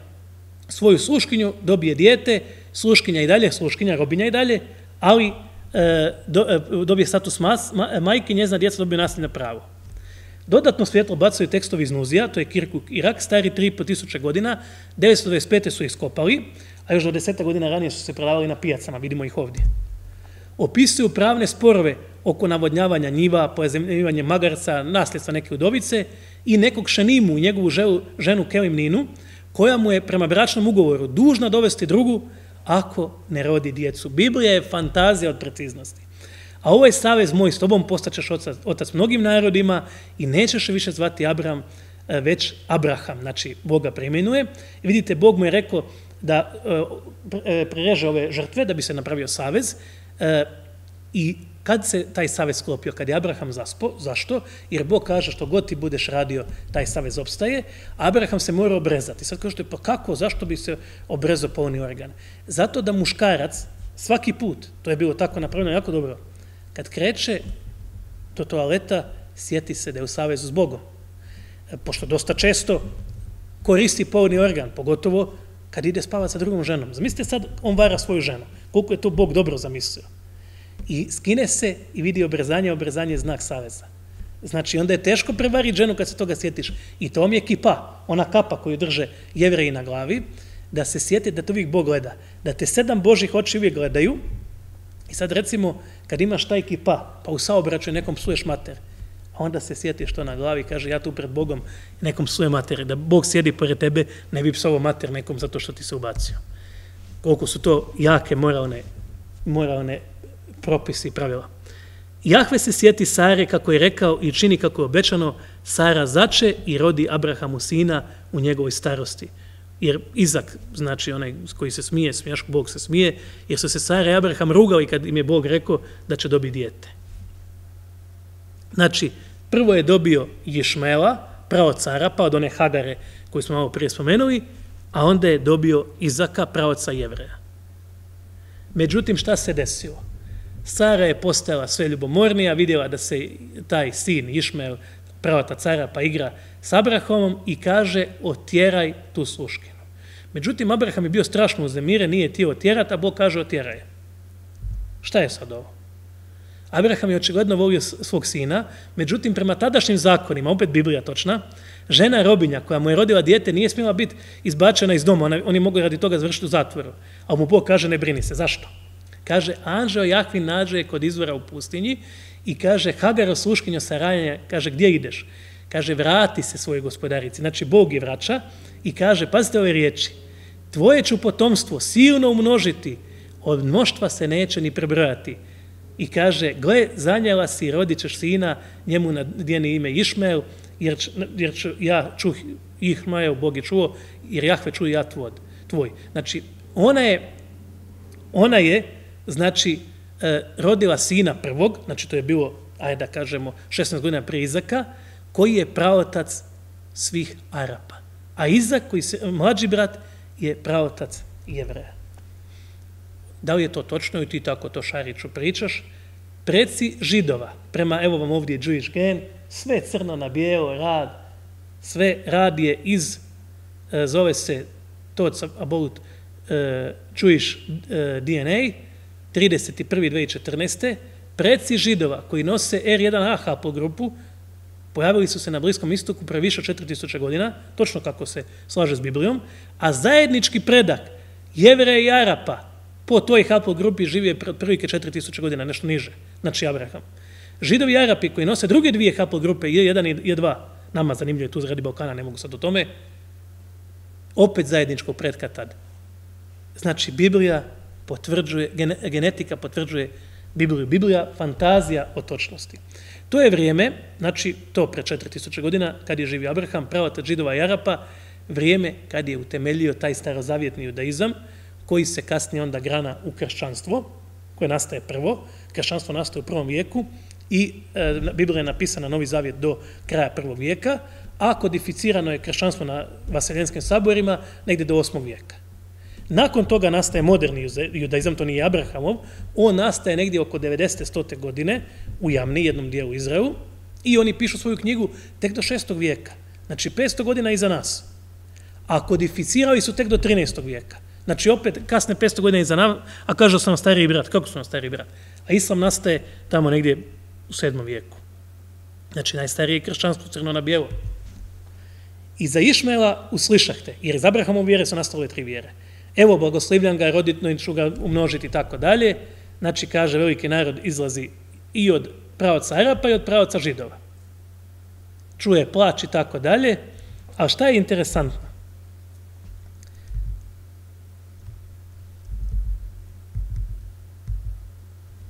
svoju sluškinju, dobije dijete, sluškinja i dalje, sluškinja, robinja i dalje, ali dobije status majke, njezina djeca dobije nasljedno pravo. Dodatno svjetlo bacaju tekstovi iz Nuzija, to je Kirkuk Irak, stari 3500 godina, 925. su ih skopali, a još do 10 godina ranije su se prodavali na pijacama, vidimo ih ovdje. Opisuju pravne sporove oko navodnjavanja njiva, pozajmljivanje magarca, nasljedstva neke udovice i nekog šenimu, njegovu ženu Kelimninu, koja mu je prema bračnom ugovoru dužna dovesti drugu ako ne rodi djecu. Biblija je fantazija od preciznosti. A ovaj savez moj s tobom postaćeš otac mnogim narodima i nećeš više zvati Abram, već Abraham, znači Boga preimenuje. I vidite, Bog mu je rekao da prereže ove žrtve da bi se napravio savez i kad se taj savez sklopio, kad je Abraham zaspo, zašto? Jer Bog kaže što god ti budeš radio, taj savez opstaje, Abraham se mora obrezati. Sad kažete, pa kako, zašto bi se obrezao polni organ? Zato da muškarac svaki put, to je bilo tako napravljeno jako dobro, kad kreće do toaleta, sjeti se da je u savezu s Bogom. Pošto dosta često koristi polni organ, pogotovo kad ide spavati sa drugom ženom. Zamislite sad, on vara svoju ženu. Koliko je to Bog dobro zamislio. I skine se i vidi obrezanje, obrezanje je znak saveza. Znači, onda je teško prevariti ženu kad se toga sjetiš. I to vam je kipa, ona kapa koju drže Jevreji na glavi, da se sjeti da te uvijek Bog gleda. Da te 7 Božih oči uvijek gledaju. I sad recimo, kad imaš taj kipa, pa u saobraćaju nekom psuješ mater, a onda se sjetiš to na glavi i kaže, ja tu pred Bogom nekom psuje mater, da Bog sjedi pored tebe, ne bi psovao mater nekom zato što ti se ubacio. Koliko su to jake moralne propisi i pravila. Jahve se sjeti Sare kako je rekao i čini kako je obećano, Sara zače i rodi Abrahamu sina u njegovoj starosti. Jer Izak, znači onaj koji se smije, smijaško Bog se smije, jer su se Sara i Abraham rugali kad im je Bog rekao da će dobiti dijete. Znači, prvo je dobio Išmaela, praoca Arapa, od one Hagare koju smo malo prije spomenuli, a onda je dobio Izaka, praoca Jevreja. Međutim, šta se desilo? Sara je postala sve ljubomornija, vidjela da se taj sin Išmael, praotac Arapa, igra s Abrahamom i kaže, otjeraj tu sluškinu. Međutim, Abraham je bio strašno uznemiren, nije htio otjerati, a Bog kaže otjeraj. Šta je sad ovo? Abraham je očigledno volio svog sina, međutim, prema tadašnjim zakonima, opet Biblija točna, žena robinja koja mu je rodila dijete nije smjela biti izbačena iz doma, oni mogu radi toga završiti u zatvoru, a mu Bog kaže ne brini se. Zašto? Kaže, anđeo Jahvin nađe kod izvora u pustinji i kaže, Hagaro sluškinjo Sarajanja, kaže, gdje ideš? Kaže, vrati se svojoj gospodarici. Znači, Bog je vraća i kaže, pazite ove riječi, tvoje ću potomstvo silno umnožiti, od mnoštva se neće ni prebrojati. I kaže, gle, zanjela si, rodit ćeš sina, njemu nadijeni ime Išmael, jer ću ja čuh Išmael, Bog je čuo, jer Jahve čuje ja tvoj. Znači, ona je znači, rodila sina prvog, znači to je bilo, ajde da kažemo, 16 godina prije Izaka, koji je praotac svih Arapa. A Izak, mlađi brat, je praotac Jevreja. Da li je to točno i ti tako to Šariću pričaš? Preci Židova, prema, evo vam ovdje Jewish Gen, sve crno na bijelo, rad, sve rad je zove se Thoughts About Jewish DNA, 31.2014. Preci Židova koji nose R1A haplogrupu pojavili su se na Bliskom istoku pre više od 4000 godina, točno kako se slaže s Biblijom, a zajednički predak Jevreja i Arapa po toj haplogrupi živije prvike 4000 godina, nešto niže, znači Abraham. Židovi i Arapi koji nose druge dvije haplogrupe, J1 i J2, nama zanimljivo je tu zradi Balkana, ne mogu sad o tome, opet zajedničkog predka tad. Znači, Biblija potvrđuje, genetika potvrđuje Bibliju. Biblija, fantazija o točnosti. To je vrijeme, znači, to pre 4000 godina, kad je živio Abraham, pravotac Židova i Arapa, vrijeme kad je utemeljio taj starozavjetni judaizam, koji se kasnije onda grana u kršćanstvo, koje nastaje prvo. Kršćanstvo nastaje u 1. vijeku i Biblija je napisana Novi zavjet do kraja 1. vijeka, a kodificirano je kršćanstvo na Vaseljenskim saborima negdje do 8. vijeka. Nakon toga nastaje moderni judaizam, to nije Abrahamov, on nastaje negdje oko 90-100. godine u Jamni, jednom dijelu Izraelu, i oni pišu svoju knjigu tek do 6. vijeka, znači 500 godina iza nas, a kodificirali su tek do 13. vijeka. Znači opet kasne 500 godina iza nas, a kažu su nam stariji brat. Kako su nam stariji brat? A islam nastaje tamo negdje u 7. vijeku. Znači najstarije kršćanstvo crno na bijelo. I za Išmaela uslišahte, jer iz Abrahamove vjere su nastale 3 vjere. Evo, blagoslivljam ga, roditno ću ga umnožiti i tako dalje. Znači, kaže, veliki narod izlazi i od pravaca Arapa i od pravaca Židova. Čuje plač i tako dalje. A šta je interesantno?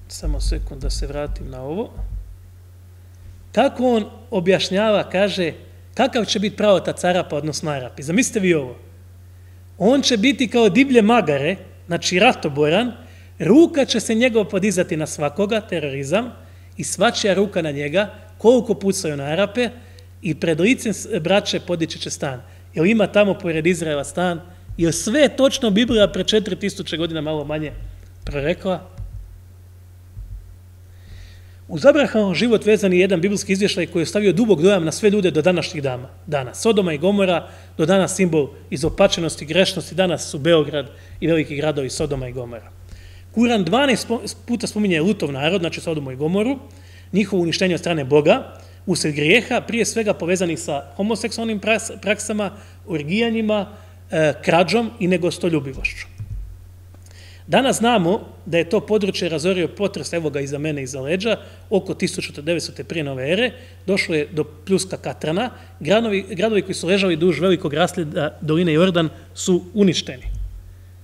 Samo sekund da se vratim na ovo. Kako on objašnjava, kaže, kakav će biti pravotac Arapa, odnosno Arapi? Zamislite vi ovo. On će biti kao divlje magare, znači ratoboran, ruka će se njegov podizati na svakoga, terorizam, i svačija ruka na njega, koliko pucaju na Arape, i pred licem braće podići će stan. Jer ima tamo pored Izraela stan, jer sve je točno Biblija pre 4000 godina malo manje prorekla. Uz Abrahamov život vezan je jedan biblijski izvještaj koji je ostavio dubok dojam na sve ljude do današnjih dana. Sodoma i Gomora, do danas simbol izopačenosti, grešnosti, danas su Beograd i veliki gradovi Sodoma i Gomora. Kuran 12 puta spominje Lutov narod, znači Sodomu i Gomoru, njihovo uništenje od strane Boga, usred grijeha, prije svega povezanih sa homoseksualnim praksama, orgijanjima, krađom i negostoljubivošću. Danas znamo da je to područje razorio potres, evo ga iza mene, iza leđa, oko 1900. prije nove ere, došlo je do pljuska Katrana, gradovi koji su ležali duž velikog rasleda doline Jordan su uništeni.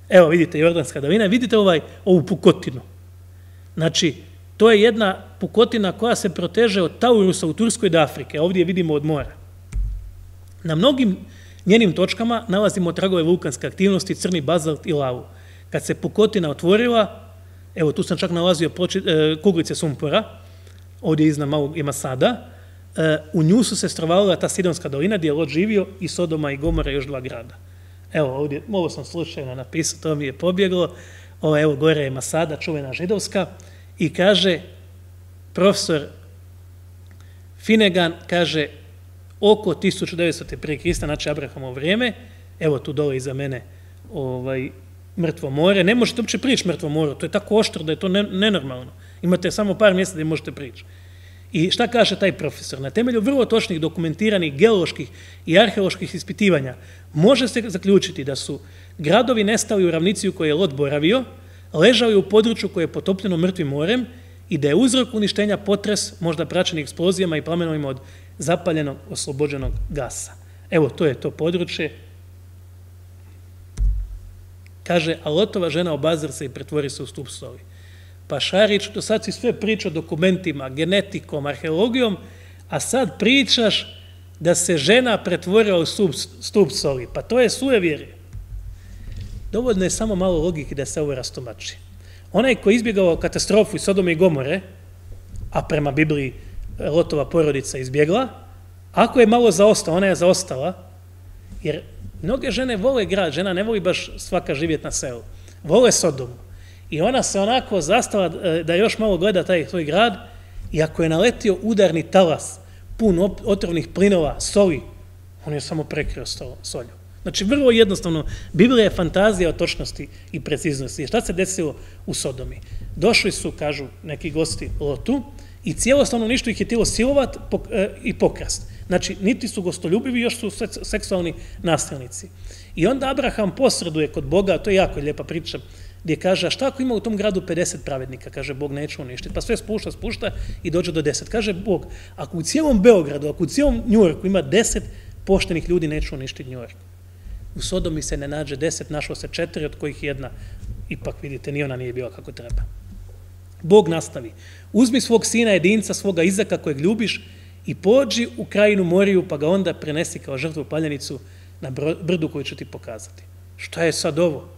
Evo vidite Jordanska dolina, vidite ovu pukotinu. Znači, to je jedna pukotina koja se proteže od Taurusa u Turskoj do Afrike, ovdje je vidimo od mora. Na mnogim njenim točkama nalazimo tragove vulkanske aktivnosti, crni bazalt i lavu. Kad se pukotina otvorila, evo tu sam čak nalazio kuglice sumpora, ovdje iznad malog ima sada, u nju su se strovalila ta Sidonska dolina gdje je Lot živio i Sodoma i Gomora još 2 grada. Evo ovdje, ovo sam slučajno napisao, to mi je pobjeglo, evo gore je Masada, čuvena židovska, i kaže, profesor Finnegan, kaže, oko 1900. prije Krista, znači Abrahamovo vrijeme, evo tu dole iza mene, mrtvo more, ne možete uopće prići mrtvo moru, to je tako oštro da je to nenormalno. Imate samo par mjesta gdje možete prići. I šta kaže taj profesor? Na temelju vrlo točnih dokumentiranih geoloških i arheoloških ispitivanja može se zaključiti da su gradovi nestali u ravnici u kojoj je Lot boravio, ležali u području koje je potopljeno mrtvim morem i da je uzrok uništenja potres, možda praćen eksplozijama i plamenovima od zapaljenog oslobođenog gasa. Evo, to je to područje. Kaže, a Lotova žena obazir se i pretvori se u stup soli. Pa Šarić, do sad si sve pričao dokumentima, genetikom, arheologijom, a sad pričaš da se žena pretvorila u stup soli. Pa to je suevjerje. Dovoljno je samo malo logike da se ovo rastumači. Onaj koji je izbjegao katastrofu iz Sodome i Gomore, a prema Bibliji Lotova porodica izbjegla, ako je malo zaostala, ona je zaostala, jer mnoge žene vole grad, žena ne voli baš svaka živjeti na selu. Vole Sodomu. I ona se onako zastala da još malo gleda taj svoj grad i ako je naletio udarni talas pun otrovnih plinova, soli, on je samo prekrio solju. Znači, vrlo jednostavno, Biblija je fantazija o točnosti i preciznosti. Šta se desilo u Sodomi? Došli su, kažu neki gosti, Lotu i cijelo stanovništvo ih je htjelo silovat i pokrast. Znači, niti su gostoljubivi, još su seksualni nasilnici. I onda Abraham posreduje kod Boga, to je jako lijepa priča, gdje kaže, a šta ako ima u tom gradu 50 pravednika? Kaže, Bog neće uništiti. Pa sve spušta i dođe do 10. Kaže Bog, ako u cijelom Beogradu, ako u cijelom Njujorku ima 10 poštenih ljudi, neće uništiti Njujork. U Sodomi se ne nađe 10, našlo se 4, od kojih jedna, ipak vidite, ni ona nije bila kako treba. Bog nastavi, uzmi svog sina jedinca, svoga Izaka kojeg ljubiš i pođi u krajinu Moriju, pa ga onda prenesi kao žrtvu paljenicu na brdu koju ću ti pokazati. Šta je sad ovo?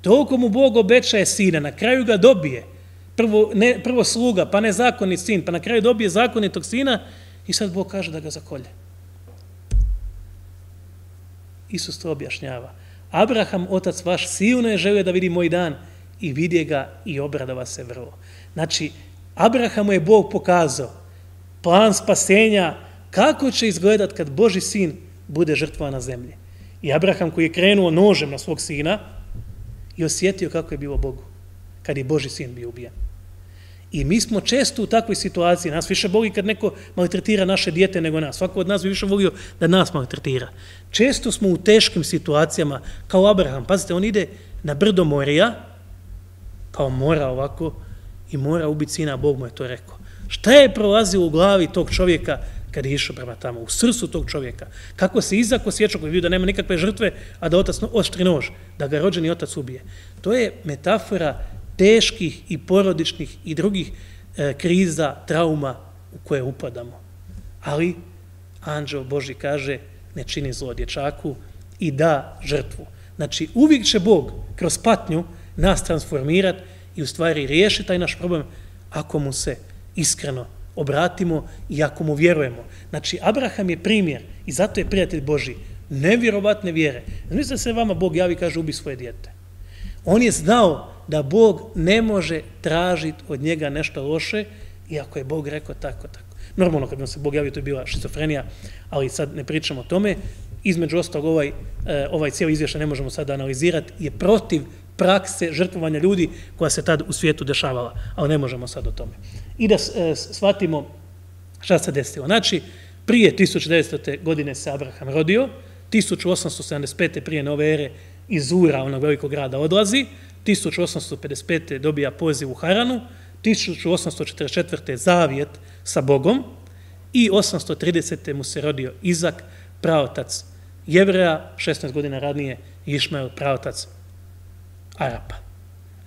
Toliko mu Bog obećaje sina, na kraju ga dobije. Prvo sluga, pa nezakonit sin, pa na kraju dobije zakonitog sina i sad Bog kaže da ga zakolje. Isus to objašnjava. Abraham, otac vaš, silno je želio da vidi moj dan i vidje ga i obradova se vrlo. Znači, Abrahamu je Bog pokazao plan spasenja, kako će izgledat kad Boži sin bude žrtvovan na zemlji. I Abraham koji je krenuo nožem na svog sina i osjetio kako je bilo Bogu kad je Boži sin bio ubijen. I mi smo često u takvoj situaciji, nas više boli kad neko maltretira naše dijete nego nas. Svako od nas bi više volio da nas maltretira. Često smo u teškim situacijama, kao Abraham. Pazite, on ide na brdo Morija, kao mora ovako, i mora ubiti sina, Bog mu je to rekao. Šta je prolazilo u glavi tog čovjeka kad je išao prema tamo, u srcu tog čovjeka? Kako se Izak osjećao koji je vidio da nema nikakve žrtve, a da otac oštri nož, da ga rođeni otac ubije? To je metafora teških i porodičnih i drugih kriza, trauma u koje upadamo. Ali anđeo Božji kaže, ne čini zlo dječaku i da žrtvu. Znači, uvijek će Bog kroz patnju nas transformirati i u stvari riješiti taj naš problem ako mu se iskreno obratimo i ako mu vjerujemo. Znači, Abraham je primjer i zato je prijatelj Božji nevjerovatne vjere. Znači da se vama Bog javi i kaže ubi svoje dijete. On je znao da Bog ne može tražiti od njega nešto loše, iako je Bog rekao tako. Normalno, kad nam se Bog javio, to je bila šizofrenija, ali sad ne pričamo o tome. Između ostalog, ovaj cijeli izvještaj ne možemo sad analizirati, je protiv prakse žrtvovanja ljudi koja se tad u svijetu dešavala, ali ne možemo sad o tome. I da shvatimo šta se desilo. Znači, prije 1900. godine se Abraham rodio, 1875. prije nove ere iz Ura, onog velikog grada, odlazi, 1855. dobija poziv u Haranu, 1844. zavjet sa Bogom i 830. mu se rodio Izak, praotac Jevreja, 16 godina radnije Išmael, praotac Arapa.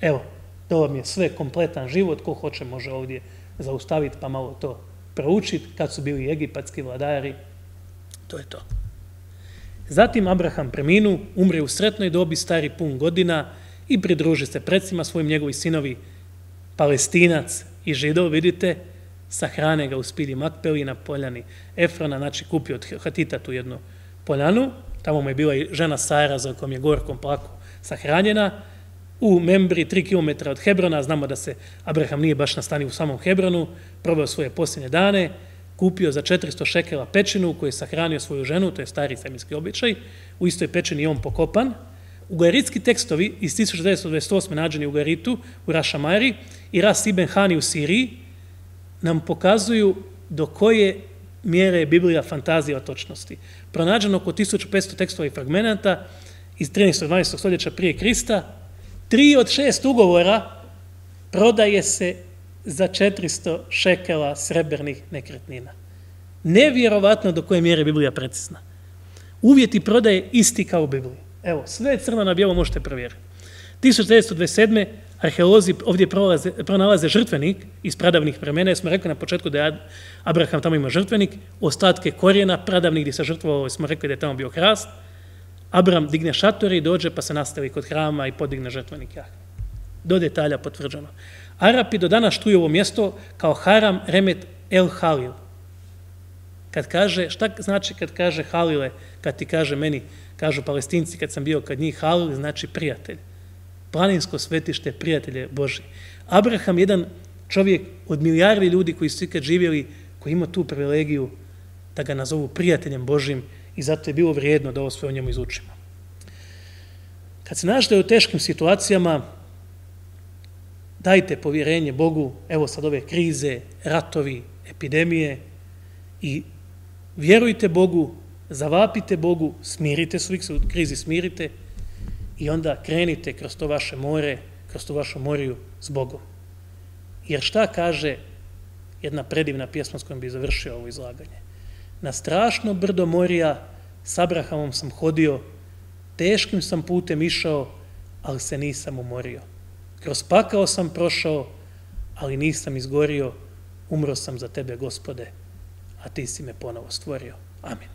Evo, to vam je sve kompletan život, ko hoće može ovdje zaustaviti pa malo to proučiti, kad su bili egipatski vladari, to je to. Zatim Abraham preminu, umre u sretnoj dobi, stari pun godina i pridruži se predsima svojim, njegovi sinovi, Palestinac i Židov, vidite, sahrane ga u spilji Makpeli na poljani Efrona, znači kupio od Hatita tu jednu poljanu, tamo mu je bila i žena Sara za kojom je gorkom plako sahranjena, u Membri 3 km od Hebrona, znamo da se Abraham nije baš nastanio u samom Hebronu, probao svoje posljednje dane, kupio za 400 šekela pećinu u kojoj je sahranio svoju ženu, to je stari semitski običaj, u istoj pećini je on pokopan. Ugaritski tekstovi iz 1928. nađeni u Ugaritu, u Rašamari i Ras Ibn Hani u Siriji nam pokazuju do koje mjere je Biblija fantazija o točnosti. Pronađeno oko 1500 tekstova i fragmenata iz 13. 12. stoljeća prije Krista, 3 od 6 ugovora prodaje se za 400 šekela srebrnih nekretnina. Nevjerovatno do koje mjere je Biblija precizna. Uvjeti prodaje isti kao u Bibliji. Evo, sve crno na bijelo možete provjeriti. 1927. arheolozi ovdje pronalaze žrtvenik iz pradavnih vremena, jer smo rekli na početku da je Abraham tamo ima žrtvenik, ostatke korijena pradavnih gdje se žrtvovao, smo rekli da je tamo bio hrast. Abram digne šatore i dođe pa se nastavi kod hrama i podigne žrtvenik Jahve. Do detalja potvrđeno. Arapi do danas štuju ovo mjesto kao Haram Remet El Halil. Kad kaže, šta znači kad kaže Halile, kad ti kaže meni, kažu Palestinci kad sam bio kad njih, Halil znači prijatelj. Planinsko svetište, prijatelje Boži. Abraham, jedan čovjek od milijardi ljudi koji su ikad živjeli, koji ima tu privilegiju da ga nazovu prijateljem Božim i zato je bilo vrijedno da ovo sve o njemu izučimo. Kad se nađete u teškim situacijama, dajte povjerenje Bogu, evo sad ove krize, ratovi, epidemije, i vjerujte Bogu, zavapite Bogu, smirite se, uvijek se u krizi smirite i onda krenite kroz to vaše more, kroz tu vašu moriju s Bogom. Jer šta kaže jedna predivna pjesma s kojom bi završio ovo izlaganje? Na strašno brdo morija s Abrahamom sam hodio, teškim sam putem išao, ali se nisam umorio. Kroz pakao sam prošao, ali nisam izgorio, umro sam za tebe, Gospode, a ti si me ponovo stvorio. Amin.